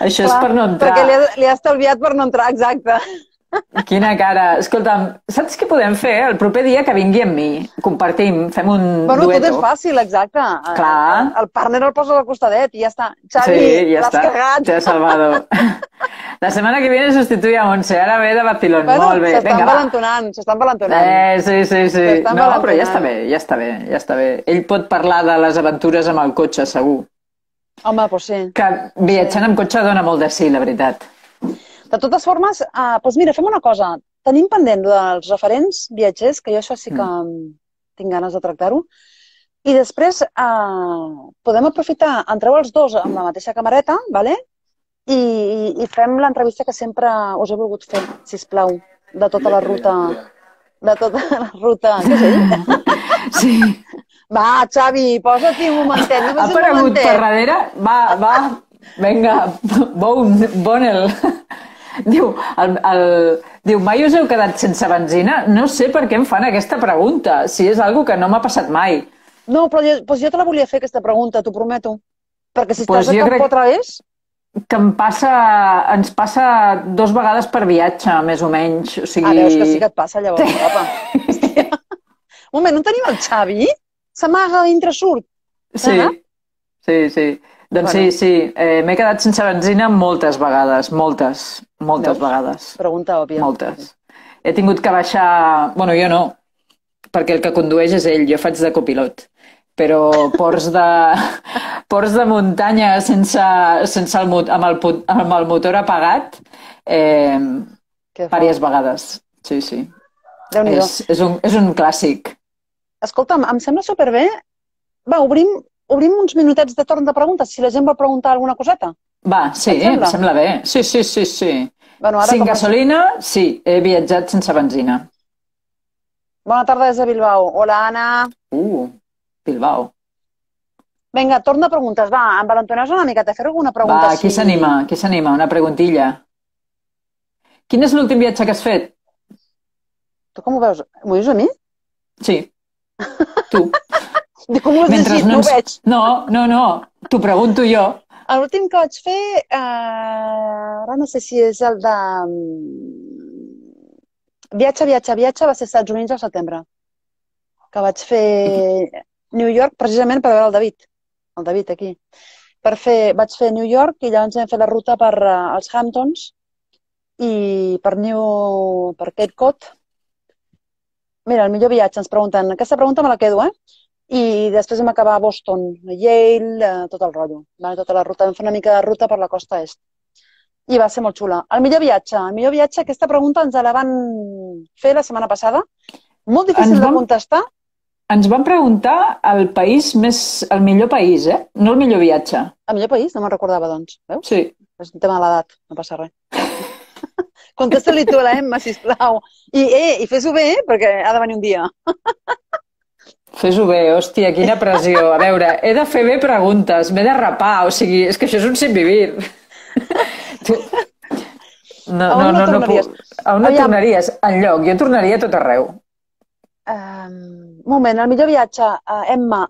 [SPEAKER 2] Això és per no entrar.
[SPEAKER 1] Perquè li ha estalviat per no entrar, exacte.
[SPEAKER 2] Quina cara. Escolta'm, saps què podem fer? El proper dia que vingui amb mi, compartim, fem un
[SPEAKER 1] Bueno, tot és
[SPEAKER 2] dueto.
[SPEAKER 1] fàcil, exacte.
[SPEAKER 2] Clar.
[SPEAKER 1] El partner el poses al costadet i ja està. Xavi,
[SPEAKER 2] Sí, ja
[SPEAKER 1] l'has
[SPEAKER 2] està.
[SPEAKER 1] cagat.
[SPEAKER 2] Te he salvado. La setmana que viene sustituye a Montse. Ara ve de vacilón.
[SPEAKER 1] Bueno,
[SPEAKER 2] Molt bé. Vinga, va.
[SPEAKER 1] s'estan valentonant.
[SPEAKER 2] Sí.
[SPEAKER 1] S'estan
[SPEAKER 2] No, però ja
[SPEAKER 1] valentonant.
[SPEAKER 2] ja està bé. Ell pot parlar de les aventures amb el cotxe, segur.
[SPEAKER 1] Home, doncs sí.
[SPEAKER 2] Que viatjant amb cotxe dona molt de sí, la veritat.
[SPEAKER 1] De totes formes, doncs mira, fem una cosa. Tenim pendent dels referents viatgers, que jo això sí que tinc ganes de tractar-ho. I després podem aprofitar, entreu els dos amb la mateixa camareta, ¿vale? I fem l'entrevista que sempre us he volgut fer, sisplau, de tota la ruta. De tota la ruta. Què és ell?
[SPEAKER 2] Sí.
[SPEAKER 1] Va, Xavi, posa-t'hi un momentet.
[SPEAKER 2] Ha aparegut per darrere. Va. Vinga, Bonel. Diu, mai us heu quedat sense benzina? No sé per què em fan aquesta pregunta, si és algo que no m'ha passat mai.
[SPEAKER 1] No, però jo te la volia fer, aquesta pregunta, t'ho prometo. Perquè si estàs a Campo Través...
[SPEAKER 2] Que ens passa 2 vegades per viatge, més o menys. O sigui...
[SPEAKER 1] veus que sí que et passa, llavors, papa. Hòstia. Un moment, on tenim el Xavi? S'amaga dintre surt.
[SPEAKER 2] Sí. Doncs bueno. Sí. M'he quedat sense benzina moltes vegades, moltes vegades.
[SPEAKER 1] Pregunta òbvia.
[SPEAKER 2] Moltes. He tingut que baixar... Bueno, jo no, perquè el que condueix és ell, jo faig de copilot. Però ports de muntanya amb el motor apagat diverses vegades. Sí.
[SPEAKER 1] Déu-n'hi-do.
[SPEAKER 2] És un clàssic.
[SPEAKER 1] Escolta'm, em sembla superbé. Va, obrim uns minutets de torn de preguntes, si la gent vol preguntar alguna coseta.
[SPEAKER 2] Va, sí, em sembla bé. Sí.
[SPEAKER 1] Bueno,
[SPEAKER 2] Sin gasolina, sí, he viatjat sense benzina.
[SPEAKER 1] Bona tarda des de Bilbao. Hola, Anna.
[SPEAKER 2] Bilbao.
[SPEAKER 1] Vinga, torn de preguntes. Va, envalentoneu-vos una miqueta, fer alguna pregunta.
[SPEAKER 2] Va, qui s'anima? Una preguntilla. Quin és l'últim viatge que has fet?
[SPEAKER 1] Tu com ho veus? M'ho dius a mi?
[SPEAKER 2] Sí, tu.
[SPEAKER 1] Com ho has llegit? No ho veig.
[SPEAKER 2] No, t'ho pregunto jo.
[SPEAKER 1] L'últim que vaig fer, ara no sé si és el de... Viatge, va ser als Estats Units al setembre. Que vaig fer New York, precisament per veure el David aquí. Vaig fer New York i llavors vam fer la ruta per als Hamptons i per Cape Cod. Mira, el millor viatge, ens pregunten. Aquesta pregunta me la quedo, I després vam acabar a Boston, a Yale, tot el rotllo. Tota la ruta, vam fer una mica de ruta per la costa est. I va ser molt xula. El millor viatge, aquesta pregunta ens la van fer la setmana passada. Molt difícil de contestar.
[SPEAKER 2] Ens van preguntar el millor país, no el millor viatge.
[SPEAKER 1] El millor país? No me'n recordava, doncs. Veus?
[SPEAKER 2] Sí.
[SPEAKER 1] És un tema de l'edat, no passa res. Contesta-li tu a la Emma, sisplau. I fes-ho bé, perquè ha de venir un dia.
[SPEAKER 2] Fes-ho bé, hòstia, quina pressió. A veure, he de fer bé preguntes, m'he de rapar, o sigui, és que això és un sin vivir. No puc. A on no tornaries? Enlloc, jo tornaria a tot arreu.
[SPEAKER 1] Un moment, el millor viatge, Emma,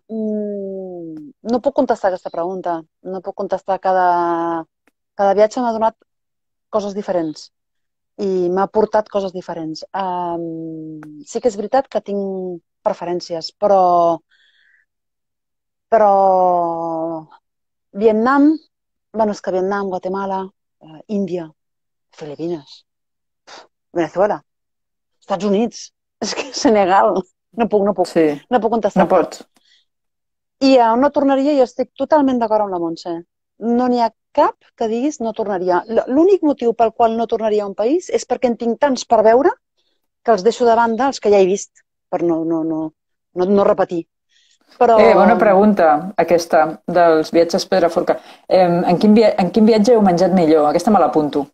[SPEAKER 1] no puc contestar aquesta pregunta. No puc contestar. Cada viatge m'ha donat coses diferents i m'ha portat coses diferents. Sí que és veritat que tinc preferències, però Vietnam, bueno, és que Vietnam, Guatemala, Índia, Filipines, Venezuela, Estats Units, és que Senegal, no puc contestar.
[SPEAKER 2] No pots.
[SPEAKER 1] I on no tornaria, jo estic totalment d'acord amb la Montse. No n'hi ha cap que diguis no tornaria. L'únic motiu pel qual no tornaria a un país és perquè en tinc tants per veure que els deixo de banda els que ja he vist, per no repetir. Però...
[SPEAKER 2] Bona pregunta, aquesta, dels viatges Pedraforca. En quin viatge heu menjat millor? Aquesta me l'apunto.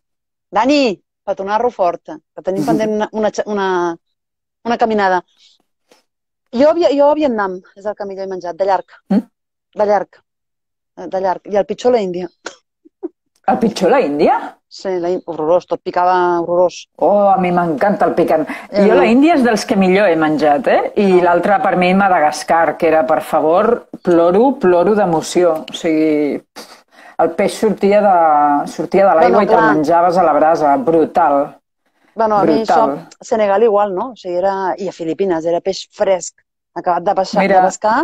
[SPEAKER 1] Dani, petonar-lo fort, que tenim pendent una caminada. Jo a Vietnam és el que millor he menjat, de llarg. De llarg. I el pitjor la Índia.
[SPEAKER 2] El pitjor la Índia?
[SPEAKER 1] Sí, horrorós, tot picava horrorós.
[SPEAKER 2] Oh, a mi m'encanta el picant. Jo la Índia és dels que millor he menjat, I l'altre per mi Madagascar, que era, per favor, ploro d'emoció. O sigui, el peix sortia de l'aigua i te'l menjaves a la brasa. Brutal.
[SPEAKER 1] Bueno, a mi això,
[SPEAKER 2] Brutal.
[SPEAKER 1] Senegal igual, no? O sigui, i a Filipines, era peix fresc, acabat de
[SPEAKER 2] Mira,
[SPEAKER 1] pescar.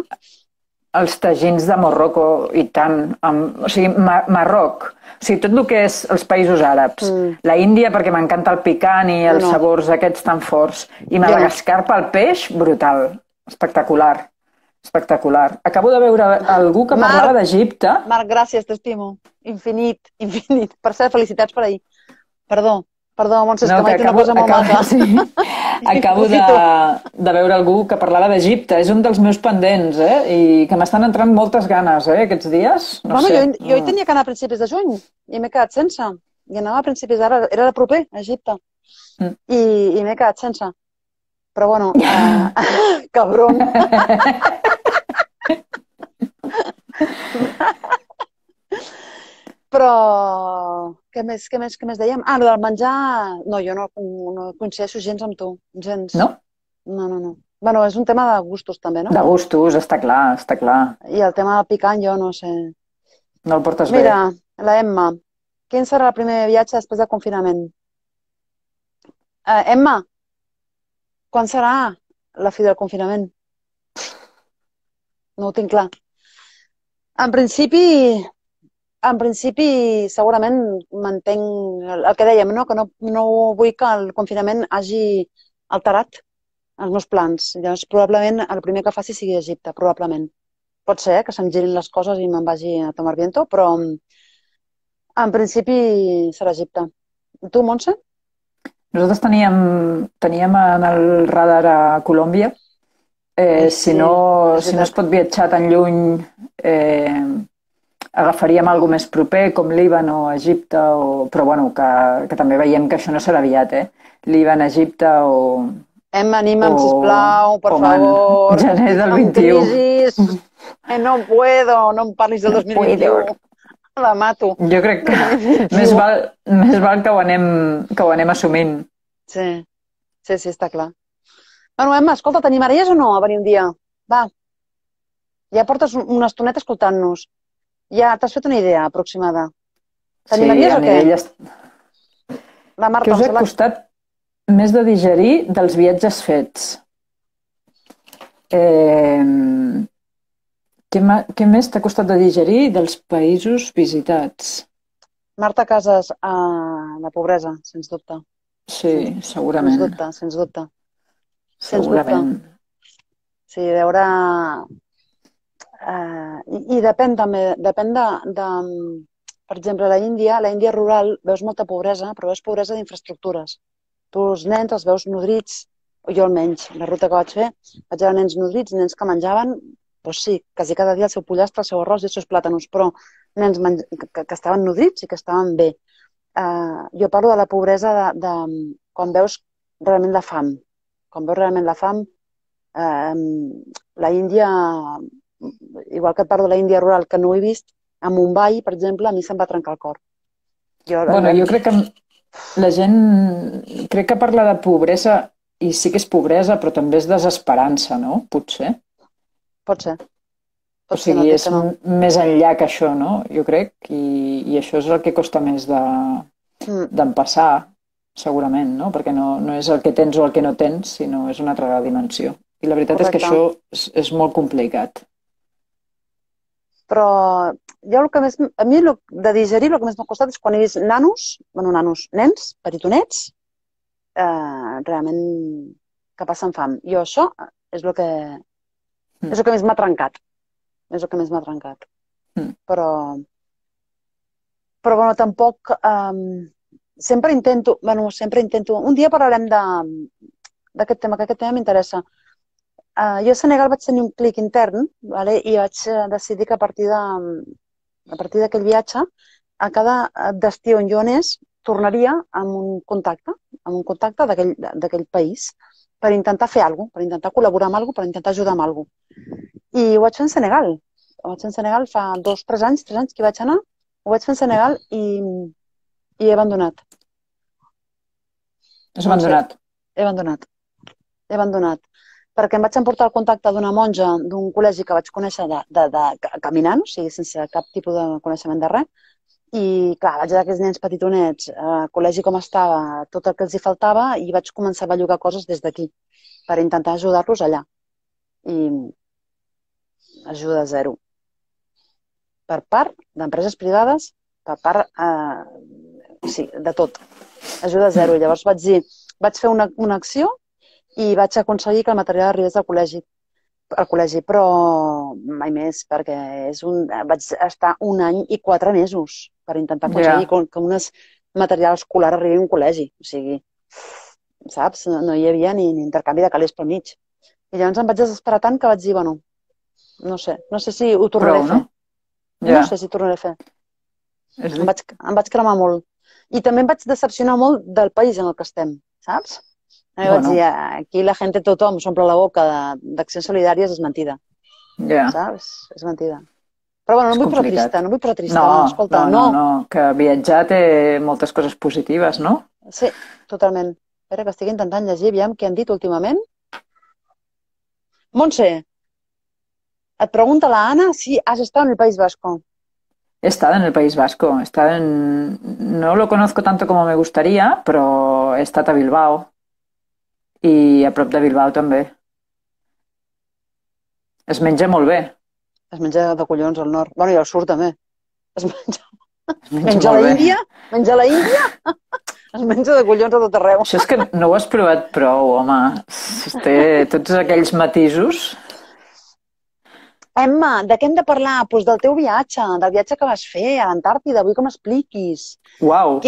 [SPEAKER 2] els tagins de Marroco i tant, o sigui, Marroc, o sigui, tot el que és els països àrabs, la Índia perquè m'encanta el picant i els sabors aquests tan forts, i Madagascar pel peix, brutal, espectacular, espectacular. Acabo de veure algú que parlava d'Egipte.
[SPEAKER 1] Marc, gràcies, t'estimo. Infinit, infinit. Per cert, felicitats per ahir. Perdó, Montse, que m'ha dit una cosa molt maca.
[SPEAKER 2] Sí. Acabo de veure algú que parlava d'Egipte. És un dels meus pendents, i que m'estan entrant moltes ganes, aquests dies. No sé.
[SPEAKER 1] Jo hi tenia que anar a principis de juny i m'he quedat sense. I anava a principis d'ara, era de proper, a Egipte. I m'he quedat sense. Però bueno, cabron. Però, què més dèiem? Ah, el del menjar... No, jo no coincideixo gens amb tu. Gens.
[SPEAKER 2] No?
[SPEAKER 1] No. Bueno, és un tema de gustos, també, no?
[SPEAKER 2] De gustos, està clar, està clar.
[SPEAKER 1] I el tema del picant, jo no sé.
[SPEAKER 2] No el portes bé.
[SPEAKER 1] Mira, la Emma. Quin serà el primer viatge després del confinament? Emma, quan serà la fi del confinament? No ho tinc clar. En principi, segurament mantenc el que dèiem, no? Que no vull que el confinament hagi alterat els meus plans. Llavors, probablement, el primer que faci sigui Egipte, probablement. Pot ser que se'm girin les coses i me'n vagi a tomar viento, però en principi serà Egipte. Tu, Montse?
[SPEAKER 2] Nosaltres teníem en el radar a Colòmbia. Si no es pot viatjar tan lluny, agafaríem alguna més proper, com Líban o Egipte, però bueno, que també veiem que això no serà aviat, Líban, Egipte o...
[SPEAKER 1] Emma, anima'm, sisplau, per favor.
[SPEAKER 2] Gener del 21.
[SPEAKER 1] Crisis. No puedo, no em parlis del 2021. La mato.
[SPEAKER 2] Jo crec que més val que ho anem assumint.
[SPEAKER 1] Sí, està clar. Bueno, Emma, escolta, t'animaries o no a venir un dia? Va. Ja portes una estoneta escoltant-nos. Ja t'has fet una idea aproximada. T'animaries o què? La Marta,
[SPEAKER 2] què us ha costat més de digerir dels viatges fets? Què més t'ha costat de digerir dels països visitats?
[SPEAKER 1] Marta Casas, la pobresa, sens dubte.
[SPEAKER 2] Sí, segurament.
[SPEAKER 1] Sens dubte.
[SPEAKER 2] Segurament.
[SPEAKER 1] Sí, veure... I depèn també, per exemple, la Índia rural, veus molta pobresa, però veus pobresa d'infraestructures. Tu els nens els veus nodrits, o jo almenys, la ruta que vaig fer, vaig veure nens nodrits, nens que menjaven, doncs sí, quasi cada dia el seu pollastre, el seu arròs i els seus plàtanos, però nens que estaven nodrits i que estaven bé. Jo parlo de la pobresa de quan veus realment la fam. Quan veus realment la fam, la Índia, igual que et parlo de la Índia rural, que no ho he vist, a Mumbai, per exemple, a mi se'm va trencar el cor.
[SPEAKER 2] Jo crec que la gent crec que parla de pobresa i sí que és pobresa, però també és desesperança, no? Potser.
[SPEAKER 1] Pot ser.
[SPEAKER 2] O sigui, és més enllà que això, no? Jo crec, i això és el que costa més d'empassar, segurament, no? Perquè no és el que tens o el que no tens, sinó és una altra dimensió. I la veritat és que això és molt complicat.
[SPEAKER 1] Però jo a mi de digerir el que més m'ha costat és quan he vist nens, petitonets, realment que passen fam. Jo això és el que més m'ha trencat. És el que més m'ha trencat. Però bueno, tampoc... Sempre intento... Un dia parlarem d'aquest tema, que aquest tema m'interessa. Jo a Senegal vaig tenir un clic intern i vaig decidir que a partir d'aquell viatge, a cada destí on jo anés, tornaria amb un contacte d'aquell país per intentar fer alguna cosa, per intentar col·laborar amb alguna cosa, per intentar ajudar amb alguna cosa. I ho vaig fer en Senegal. Ho vaig fer en Senegal fa 3 anys que hi vaig anar. Ho vaig fer en Senegal i he abandonat.
[SPEAKER 2] Has abandonat?
[SPEAKER 1] He abandonat. Perquè em vaig emportar el contacte d'una monja d'un col·legi que vaig conèixer caminant, o sigui, sense cap tipus de coneixement de res, I, clar, vaig veure aquells nens petitonets, al col·legi com estava, tot el que els hi faltava, i vaig començar a bellugar coses des d'aquí per intentar ajudar-los allà. I ajuda zero. Per part d'empreses privades, per part, sí, de tot. Ajuda zero. Llavors vaig dir, vaig fer una acció i vaig aconseguir que el material arribés al col·legi, però mai més, perquè vaig estar 1 any i 4 mesos per intentar aconseguir que un material escolar arribi a un col·legi. O sigui, saps? No hi havia ni intercanvi de calés pel mig. I llavors em vaig desesperar tant que vaig dir, bueno, no sé si ho tornaré a fer. No sé si ho tornaré a fer. Em vaig cremar molt. I també em vaig decepcionar molt del país en el que estem, saps? Vaig dir, aquí la gent, tothom s'omple la boca d'accions solidàries, és mentida. Saps? És mentida. Però bueno, no vull posar trista, no vull posar trista. Escolta,
[SPEAKER 2] no, que viatjar té moltes coses positives, no?
[SPEAKER 1] Sí, totalment. Espera, que estic intentant llegir, aviam què han dit últimament. Montse, et pregunta la Ana si has estado en el País Vasco.
[SPEAKER 2] He estado en el País Vasco. No lo conozco tanto como me gustaría, pero he estat a Bilbao. I a prop de Bilbao també. Es menja molt bé.
[SPEAKER 1] Es menja de collons al nord. Bueno, i al sud també. Es menja a l'Índia? Menja a l'Índia? Es menja de collons a tot arreu.
[SPEAKER 2] Això és que no ho has provat prou, home. Té tots aquells matisos.
[SPEAKER 1] Emma, de què hem de parlar? Doncs del teu viatge, del viatge que vas fer a l'Antàrtida. Vull que m'expliquis.
[SPEAKER 2] Uau!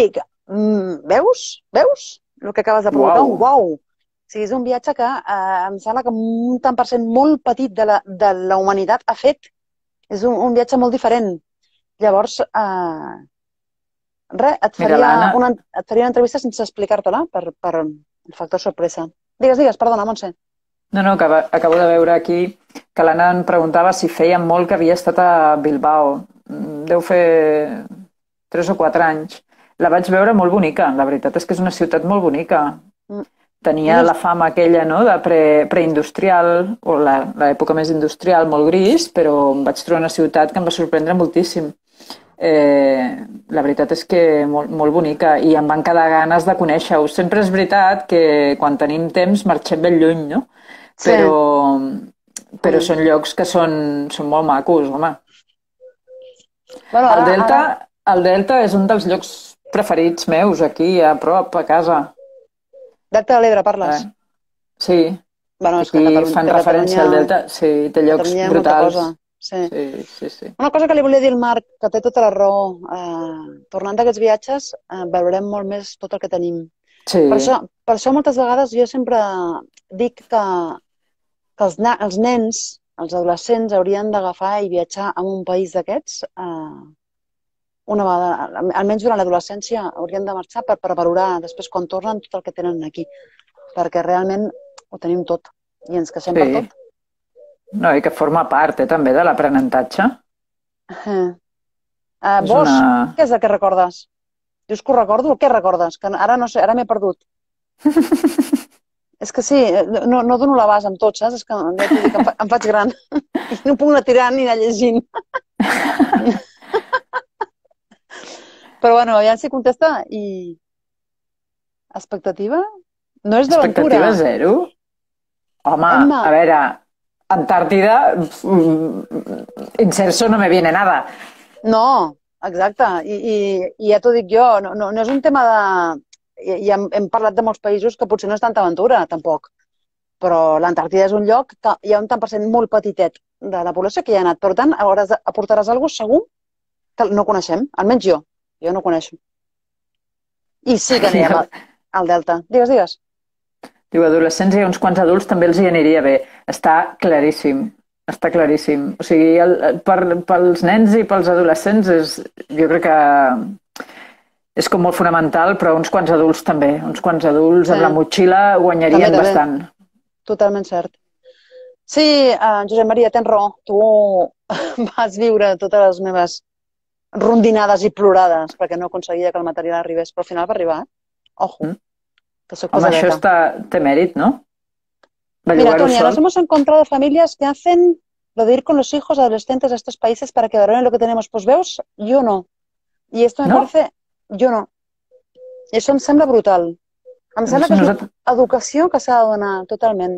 [SPEAKER 1] Veus? El que acabes de provocar? Un uau! O sigui, és un viatge que em sembla que un tant per cent molt petit de la humanitat ha fet. És un viatge molt diferent. Llavors, et faria una entrevista sense explicar-te-la per el factor sorpresa. Digues, perdona, Montse.
[SPEAKER 2] No, que acabo de veure aquí que l'Anna em preguntava si feia molt que havia estat a Bilbao. Deu fer 3 o 4 anys. La vaig veure molt bonica. La veritat és que és una ciutat molt bonica. Tenia la fama aquella, no?, de preindustrial, o l'època més industrial, molt gris, però em vaig trobar una ciutat que em va sorprendre moltíssim. La veritat és que molt bonica, i em van quedar ganes de conèixer-ho. Sempre és veritat que quan tenim temps marxem ben lluny, no? Però són llocs que són molt macos, home. El Delta és un dels llocs preferits meus, aquí, a prop, a casa.
[SPEAKER 1] Delta de l'Ebre, parles?
[SPEAKER 2] Sí.
[SPEAKER 1] Bueno,
[SPEAKER 2] aquí fan referència al Delta. Sí, té llocs brutals.
[SPEAKER 1] Sí. Una cosa que li volia dir al Marc, que té tota la raó. Tornant d'aquests viatges, veurem molt més tot el que tenim.
[SPEAKER 2] Sí.
[SPEAKER 1] Per això moltes vegades jo sempre dic que els nens, els adolescents, haurien d'agafar i viatjar a un país d'aquests una vegada, almenys durant l'adolescència, haurien de marxar per valorar després quan tornen tot el que tenen aquí. Perquè realment ho tenim tot i ens queixem per tot.
[SPEAKER 2] No, i que forma part també de l'aprenentatge.
[SPEAKER 1] Vos, què és el que recordes? Dius que ho recordo? Què recordes? Que ara no sé, ara m'he perdut. És que sí, no dono l'abast amb tots, saps? És que em faig gran. I no puc anar tirant ni anar llegint. Però bueno, aviam si contesta i... Expectativa? No és d'aventura.
[SPEAKER 2] Expectativa zero? Home, a veure, Antàrtida, inserso no me viene nada.
[SPEAKER 1] No, exacte. I ja t'ho dic jo, no és un tema de... Ja hem parlat de molts països que potser no és tanta aventura, tampoc. Però l'Antàrtida és un lloc que hi ha un tant per cent molt petitet de la població que hi ha anat. Per tant, aportaràs alguna cosa segur que no coneixem, almenys jo. Jo no coneixo. I sí que anirem al Delta. Digues.
[SPEAKER 2] Diu, adolescents i uns quants adults també els hi aniria bé. Està claríssim. Està claríssim. O sigui, pels nens i pels adolescents jo crec que és com molt fonamental, però uns quants adults també. Uns quants adults amb la motxilla guanyarien bastant.
[SPEAKER 1] Totalment cert. Sí, Josep Maria, tens raó. Tu vas viure totes les meves rondinades i plorades perquè no aconseguia que el material arribés, però al final va arribar. Ojo, que soc pesadeta.
[SPEAKER 2] Home, això té mèrit, ¿no?
[SPEAKER 1] Mira, Tonia, nos hemos encontrado familias que hacen lo de ir con los hijos adolescentes a estos países para que valoren lo que tenemos. Pues veus, yo no. Y esto me parece... Jo no. I això em sembla brutal. Em sembla que és una educació que s'ha de donar, totalment.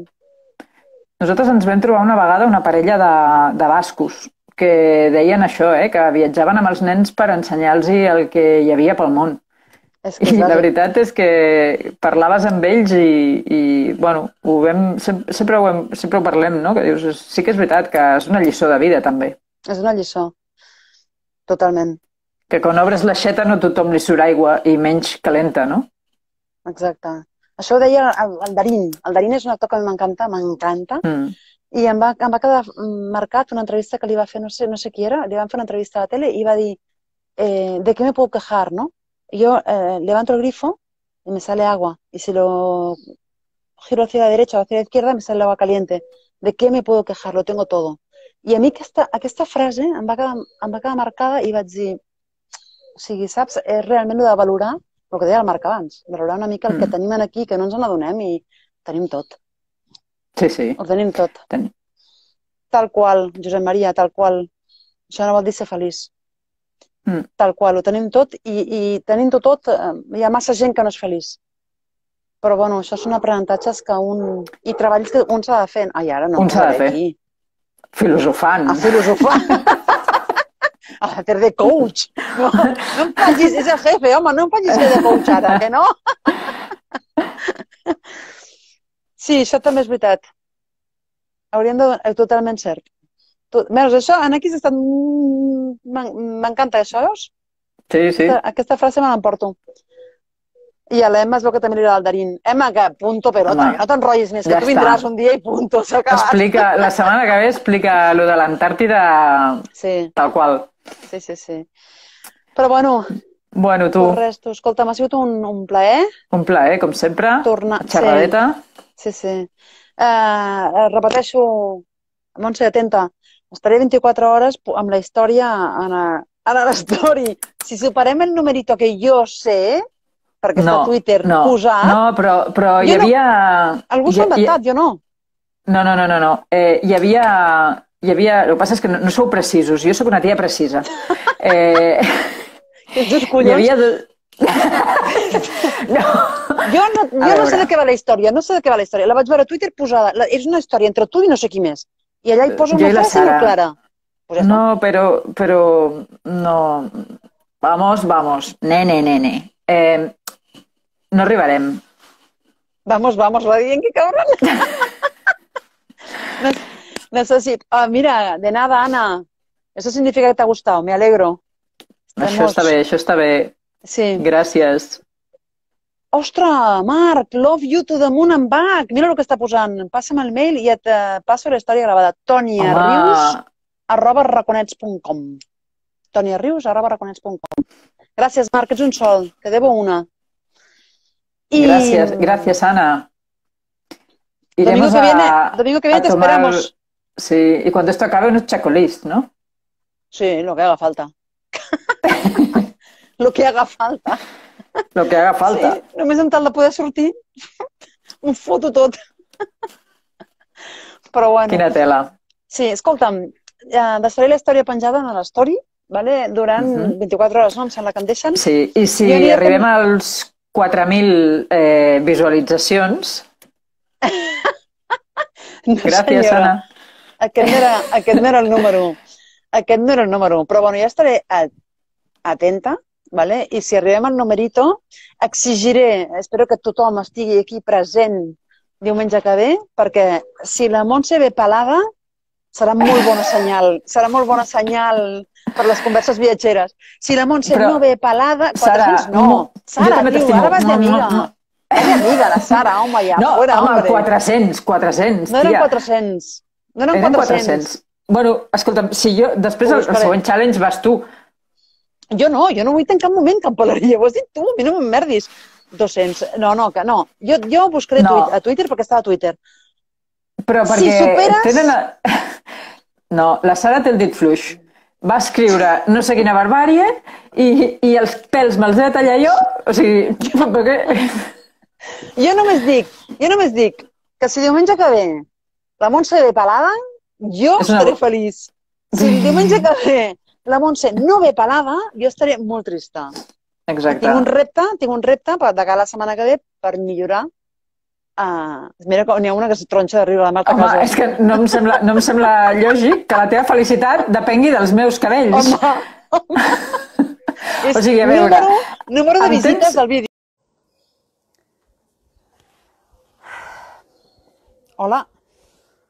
[SPEAKER 2] Nosaltres ens vam trobar una vegada una parella de bascos que deien això, que viatjaven amb els nens per ensenyar-los el que hi havia pel món. I la veritat és que parlaves amb ells i bueno, sempre ho parlem, no? Que dius, sí que és veritat que és una lliçó de vida, també.
[SPEAKER 1] És una lliçó, totalment.
[SPEAKER 2] Que quan obres l'aixeta no tothom li surt aigua i menys calenta, no?
[SPEAKER 1] Exacte. Això ho deia el Darín. El Darín és un actor que a mi m'encanta. I em va quedar marcat una entrevista que li va fer, no sé qui era, li van fer una entrevista a la tele i va dir, ¿de qué me puedo quejar, no? Yo levanto el grifo y me sale agua. Y si lo giro hacia la derecha o hacia la izquierda, me sale el agua caliente. ¿De qué me puedo quejar? Lo tengo todo. I a mi aquesta frase em va quedar marcada i vaig dir, o sigui, saps, és realment el de valorar el que deia el Marc abans, valorar una mica el que tenim aquí, que no ens n'adonem i tenim tot.
[SPEAKER 2] Sí.
[SPEAKER 1] Ho tenim tot. Tal qual, Josep Maria, tal qual. Això no vol dir ser feliç. Tal qual, ho tenim tot i tenint-ho tot hi ha massa gent que no és feliç. Però bueno, això són aprenentatges que i treballs que un s'ha de fer. Ai, ara no.
[SPEAKER 2] Un s'ha de fer. Filosofant.
[SPEAKER 1] A filosofar. A fer de coach. No em facis, és el jefe, home, no em facis fer de coach ara, que no? Sí, això també és veritat. Hauríem de... Totalment cert. Veus, això, aquí s'ha estat... M'encanta això, veus?
[SPEAKER 2] Sí.
[SPEAKER 1] Aquesta frase me l'emporto. I a l'Emma es veu que també li agrada el Darín. Emma, que punto pelota, no t'enrotllis més, que tu vindràs un dia i punto, s'ha acabat.
[SPEAKER 2] Explica, la setmana que ve explica lo de l'Antàrtida tal qual.
[SPEAKER 1] Sí. Però bueno...
[SPEAKER 2] Bueno, tu...
[SPEAKER 1] Res, tu, escolta, m'ha sigut un plaer.
[SPEAKER 2] Un plaer, com sempre. Xerradeta.
[SPEAKER 1] Sí. Repeteixo, Montse, atenta, estaré 24 hores amb la història a l'story. Si superem el numerito que jo sé, perquè està a Twitter posat...
[SPEAKER 2] No, però hi havia...
[SPEAKER 1] Algú s'ha inventat, jo no.
[SPEAKER 2] No. Hi havia... El que passa és que no sou precisos. Jo sóc una tia precisa.
[SPEAKER 1] Ets dos collons.
[SPEAKER 2] Hi havia...
[SPEAKER 1] Jo no sé de què va la història, La vaig veure a Twitter posada. És una història entre tu i no sé qui més. I allà hi posa una frase molt clara.
[SPEAKER 2] No, però... No... Vamos. Nene. No arribarem.
[SPEAKER 1] Vamos, va dient que cabron. Necesito... mira, de nada, Ana. Eso significa que te ha gustado, me alegro.
[SPEAKER 2] Això està bé.
[SPEAKER 1] Sí.
[SPEAKER 2] Gràcies.
[SPEAKER 1] Ostres, Marc, love you to the moon and back. Mira el que està posant. Passa'm el mail i et passo la història gravada. toniarius@raconets.com toniarius@raconets.com. Gràcies, Marc, ets un sol. Te debo una.
[SPEAKER 2] Gracias, Ana.
[SPEAKER 1] Domingo que viene te esperamos.
[SPEAKER 2] Sí, y cuando esto acabe unos chocolates, ¿no?
[SPEAKER 1] Sí, lo que haga falta. Lo que haga falta. Sí, només en tal de poder sortir, ho foto tot. Però bueno.
[SPEAKER 2] Quina tela.
[SPEAKER 1] Sí, escolta'm, deixaré la història penjada a l'story, durant 24 hores, no? Em sembla que em deixen.
[SPEAKER 2] Sí, i si arribem als 4.000 visualitzacions... Gràcies, Ana.
[SPEAKER 1] Aquest no era el número. Però bueno, ja estaré atenta, ¿vale? I si arribem al numerito, exigiré, espero que tothom estigui aquí present diumenge que ve, perquè si la Montse ve pelada, serà molt bona senyal per les converses viatgeres. Si la Montse no ve pelada, 400 no. Sara, diu, ara vas d'amiga. És amiga, la Sara, home, ja.
[SPEAKER 2] No, home, 400,
[SPEAKER 1] No eren 400.
[SPEAKER 2] Eren 400. Bueno, escolta'm, si jo... Després el següent challenge vas tu.
[SPEAKER 1] Jo no vull en cap moment cap peleria. Ho has dit tu, a mi no m'emmerdis. 200. No. Jo buscaré a Twitter perquè estava a Twitter.
[SPEAKER 2] Però perquè...
[SPEAKER 1] Si superes...
[SPEAKER 2] No, la Sara té el dit fluix. Va escriure no sé quina barbàrie i els pèls me'ls he de tallar jo. O sigui, per què?
[SPEAKER 1] Jo només dic que si diumenge que ve la Montse ve pelada, jo estaré feliç. Si diumenge que ve la Montse no ve pelada, jo estaré molt trista.
[SPEAKER 2] Exacte.
[SPEAKER 1] Tinc un repte de cara a la setmana que ve per millorar. Mira, n'hi ha una que es tronxa de riure la Marta Casas.
[SPEAKER 2] Home, és que no em sembla lògic que la teva felicitat depengui dels meus cabells.
[SPEAKER 1] Home.
[SPEAKER 2] O sigui, a veure...
[SPEAKER 1] Número de visites del vídeo. Hola.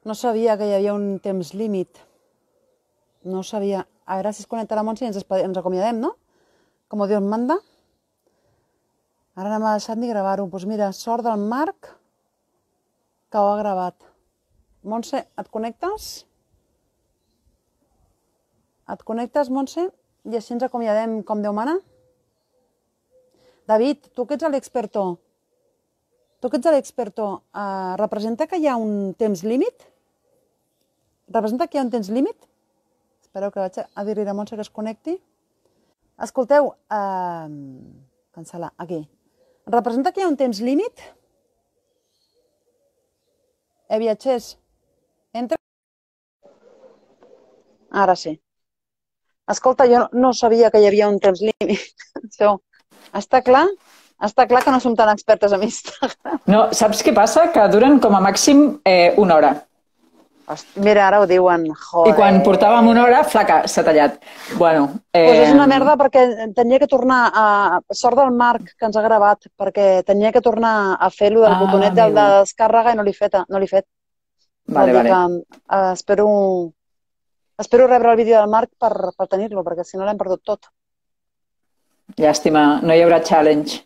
[SPEAKER 1] No sabia que hi havia un temps límit. No sabia. A veure si es connecta la Montse i ens acomiadem, no? Com Dios manda. Ara no m'ha deixat ni gravar-ho. Doncs mira, sort del Marc que ho ha gravat. Montse, et connectes? Et connectes, Montse? I així ens acomiadem com Déu mana? David, tu que ets l'experto, representa que hi ha un temps límit? Representa que hi ha un temps límit? Espereu que vaig a dir-li a Montse que es connecti. Escolteu, cancel·lar, aquí. Representa que hi ha un temps límit? Viatgers, entra. Ara sí. Escolta, jo no sabia que hi havia un temps límit. Està clar que no som tan expertes en Instagram.
[SPEAKER 2] No, saps què passa? Que duren com a màxim una hora.
[SPEAKER 1] Mira, ara ho diuen. Joder.
[SPEAKER 2] I quan portàvem una hora, flaca, s'ha tallat. Bueno,
[SPEAKER 1] pues és una merda perquè tenia que tornar a... Sort del Marc que ens ha gravat, perquè tenia que tornar a fer lo del botonet de descàrrega i no l'he fet.
[SPEAKER 2] Vale.
[SPEAKER 1] Espero rebre el vídeo del Marc per tenir-lo, perquè si no l'hem perdut tot.
[SPEAKER 2] Llàstima, no hi haurà challenge.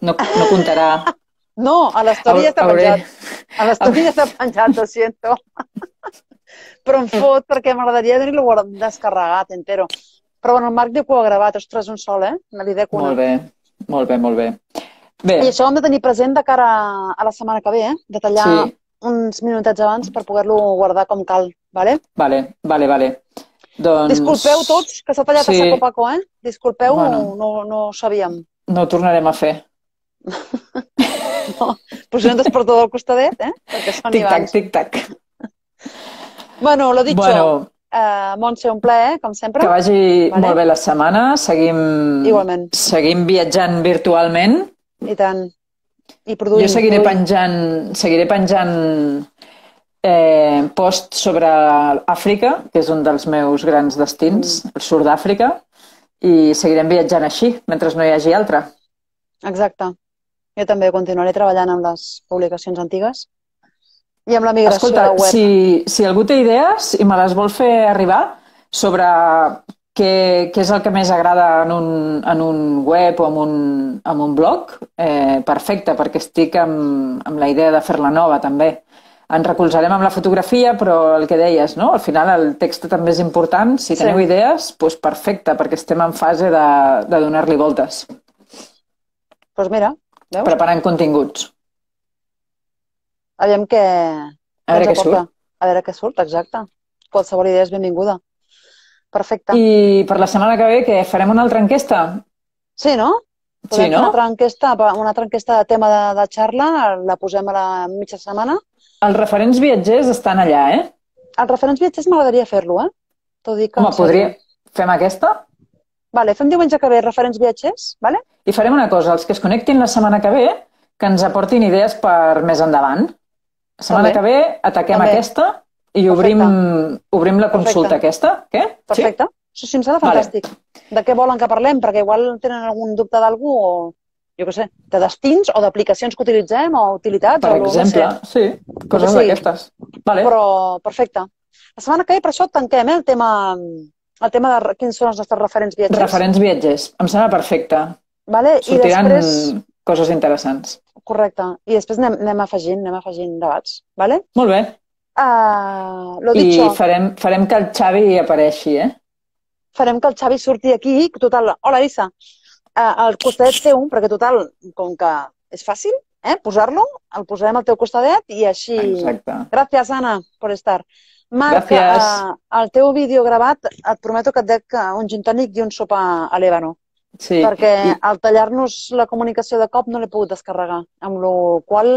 [SPEAKER 2] No comptarà.
[SPEAKER 1] No, a l'estòria està penjat. A l'estòria està penjat, ho siento. Però em fot, perquè m'agradaria tenir-lo descarregat, entero. Però bueno, el Marc diu que ho ha gravat. Ostres, un sol, Me li dec una.
[SPEAKER 2] Molt bé.
[SPEAKER 1] I això ho hem de tenir present de cara a la setmana que ve, de tallar uns minutets abans per poder-lo guardar com cal, vale? Vale. Doncs... Disculpeu tots, que s'ha tallat a saco paco, Disculpeu, no ho sabíem.
[SPEAKER 2] No ho tornarem a fer.
[SPEAKER 1] No, pues un despertador al costadet, perquè són abans.
[SPEAKER 2] Tic-tac.
[SPEAKER 1] Bueno, lo dicho, Montse, un plaer, com sempre.
[SPEAKER 2] Que vagi molt bé la setmana,
[SPEAKER 1] Igualment.
[SPEAKER 2] Seguim viatjant virtualment.
[SPEAKER 1] I tant. I produint.
[SPEAKER 2] Jo seguiré penjant post sobre Àfrica, que és un dels meus grans destins, el sud d'Àfrica, i seguirem viatjant així, mentre no hi hagi altre.
[SPEAKER 1] Exacte. Jo també continuaré treballant amb les publicacions antigues i amb la migració
[SPEAKER 2] de
[SPEAKER 1] web.
[SPEAKER 2] Si algú té idees i me les vol fer arribar sobre què és el que més agrada en un web o en un blog, perfecte, perquè estic amb la idea de fer-la nova també. Ens recolzarem amb la fotografia, però el que deies, no? Al final el text també és important. Si teniu idees, doncs perfecte, perquè estem en fase de donar-li voltes.
[SPEAKER 1] Doncs mira, veus?
[SPEAKER 2] Preparant continguts.
[SPEAKER 1] Aviam què...
[SPEAKER 2] A veure què surt.
[SPEAKER 1] A veure què surt, exacte. Qualsevol idea és benvinguda. Perfecte.
[SPEAKER 2] I per la setmana que ve, què? Farem una altra enquesta?
[SPEAKER 1] Sí, no? Podem fer una altra enquesta de tema de xarra, la posem a la mitja setmana.
[SPEAKER 2] Els referents viatgers estan allà,
[SPEAKER 1] Els referents viatgers m'agradaria fer-lo,
[SPEAKER 2] Home, fem aquesta?
[SPEAKER 1] Vale, fem diumenge que ve referents viatgers, vale?
[SPEAKER 2] I farem una cosa, els que es connectin la setmana que ve, que ens aportin idees per més endavant. La setmana que ve ataquem aquesta i obrim la consulta aquesta. Què?
[SPEAKER 1] Perfecte. Sí, em sembla fantàstic. De què volen que parlem? Perquè igual tenen algun dubte d'algú o, jo què sé, de destins o d'aplicacions que utilitzem o utilitats.
[SPEAKER 2] Per exemple, sí, coses d'aquestes.
[SPEAKER 1] Però, perfecte. La setmana que ve, per això tanquem, el tema de quins són els nostres referents viatgers.
[SPEAKER 2] Referents viatgers. Em sembla perfecte. Sortiran coses interessants.
[SPEAKER 1] Correcte. I després anem afegint debats.
[SPEAKER 2] Molt bé. I farem que el Xavi apareixi,
[SPEAKER 1] Farem que el Xavi surti aquí. Total, hola, Elisa. Al costadet teu, perquè total, com que és fàcil, posar-lo, el posarem al teu costadet i així...
[SPEAKER 2] Exacte.
[SPEAKER 1] Gràcies, Anna, per estar. Marc, el teu vídeo gravat, et prometo que et dec un gin tònic i un sopar a l'Ébano.
[SPEAKER 2] Sí.
[SPEAKER 1] Perquè al tallar-nos la comunicació de cop no l'he pogut descarregar, amb la qual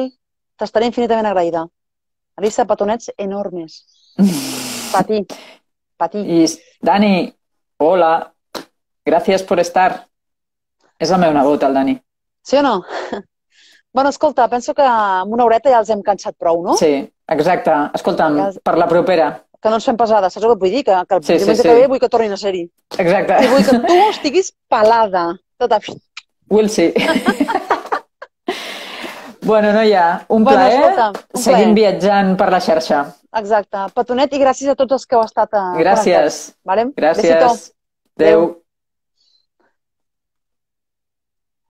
[SPEAKER 1] t'estaré infinitament agraïda. Elisa, petonets enormes. Patí.
[SPEAKER 2] I, Dani, Hola, gracias por estar. És el meu nebot, el Dani.
[SPEAKER 1] Sí o no? Bueno, escolta, penso que amb una horeta ja els hem cansat prou, no?
[SPEAKER 2] Sí, exacte. Escolta'm,
[SPEAKER 1] Ja,
[SPEAKER 2] per la propera.
[SPEAKER 1] que no ens fem pesades, saps el que et vull dir? Que el
[SPEAKER 2] Sí, sí,
[SPEAKER 1] diumenge
[SPEAKER 2] sí.
[SPEAKER 1] que ve vull que tornin a ser-hi.
[SPEAKER 2] Exacte.
[SPEAKER 1] I vull que tu estiguis pelada. Tota...
[SPEAKER 2] Will see. Bueno, noia, un
[SPEAKER 1] Bueno,
[SPEAKER 2] plaer.
[SPEAKER 1] escolta, un
[SPEAKER 2] Seguim
[SPEAKER 1] plaer.
[SPEAKER 2] viatjant per la xarxa.
[SPEAKER 1] Exacte. Petonet i gràcies a tots els que heu estat
[SPEAKER 2] Gràcies.
[SPEAKER 1] connectats. Vale? Besito.
[SPEAKER 2] Gràcies.
[SPEAKER 1] Adéu.
[SPEAKER 2] Adéu.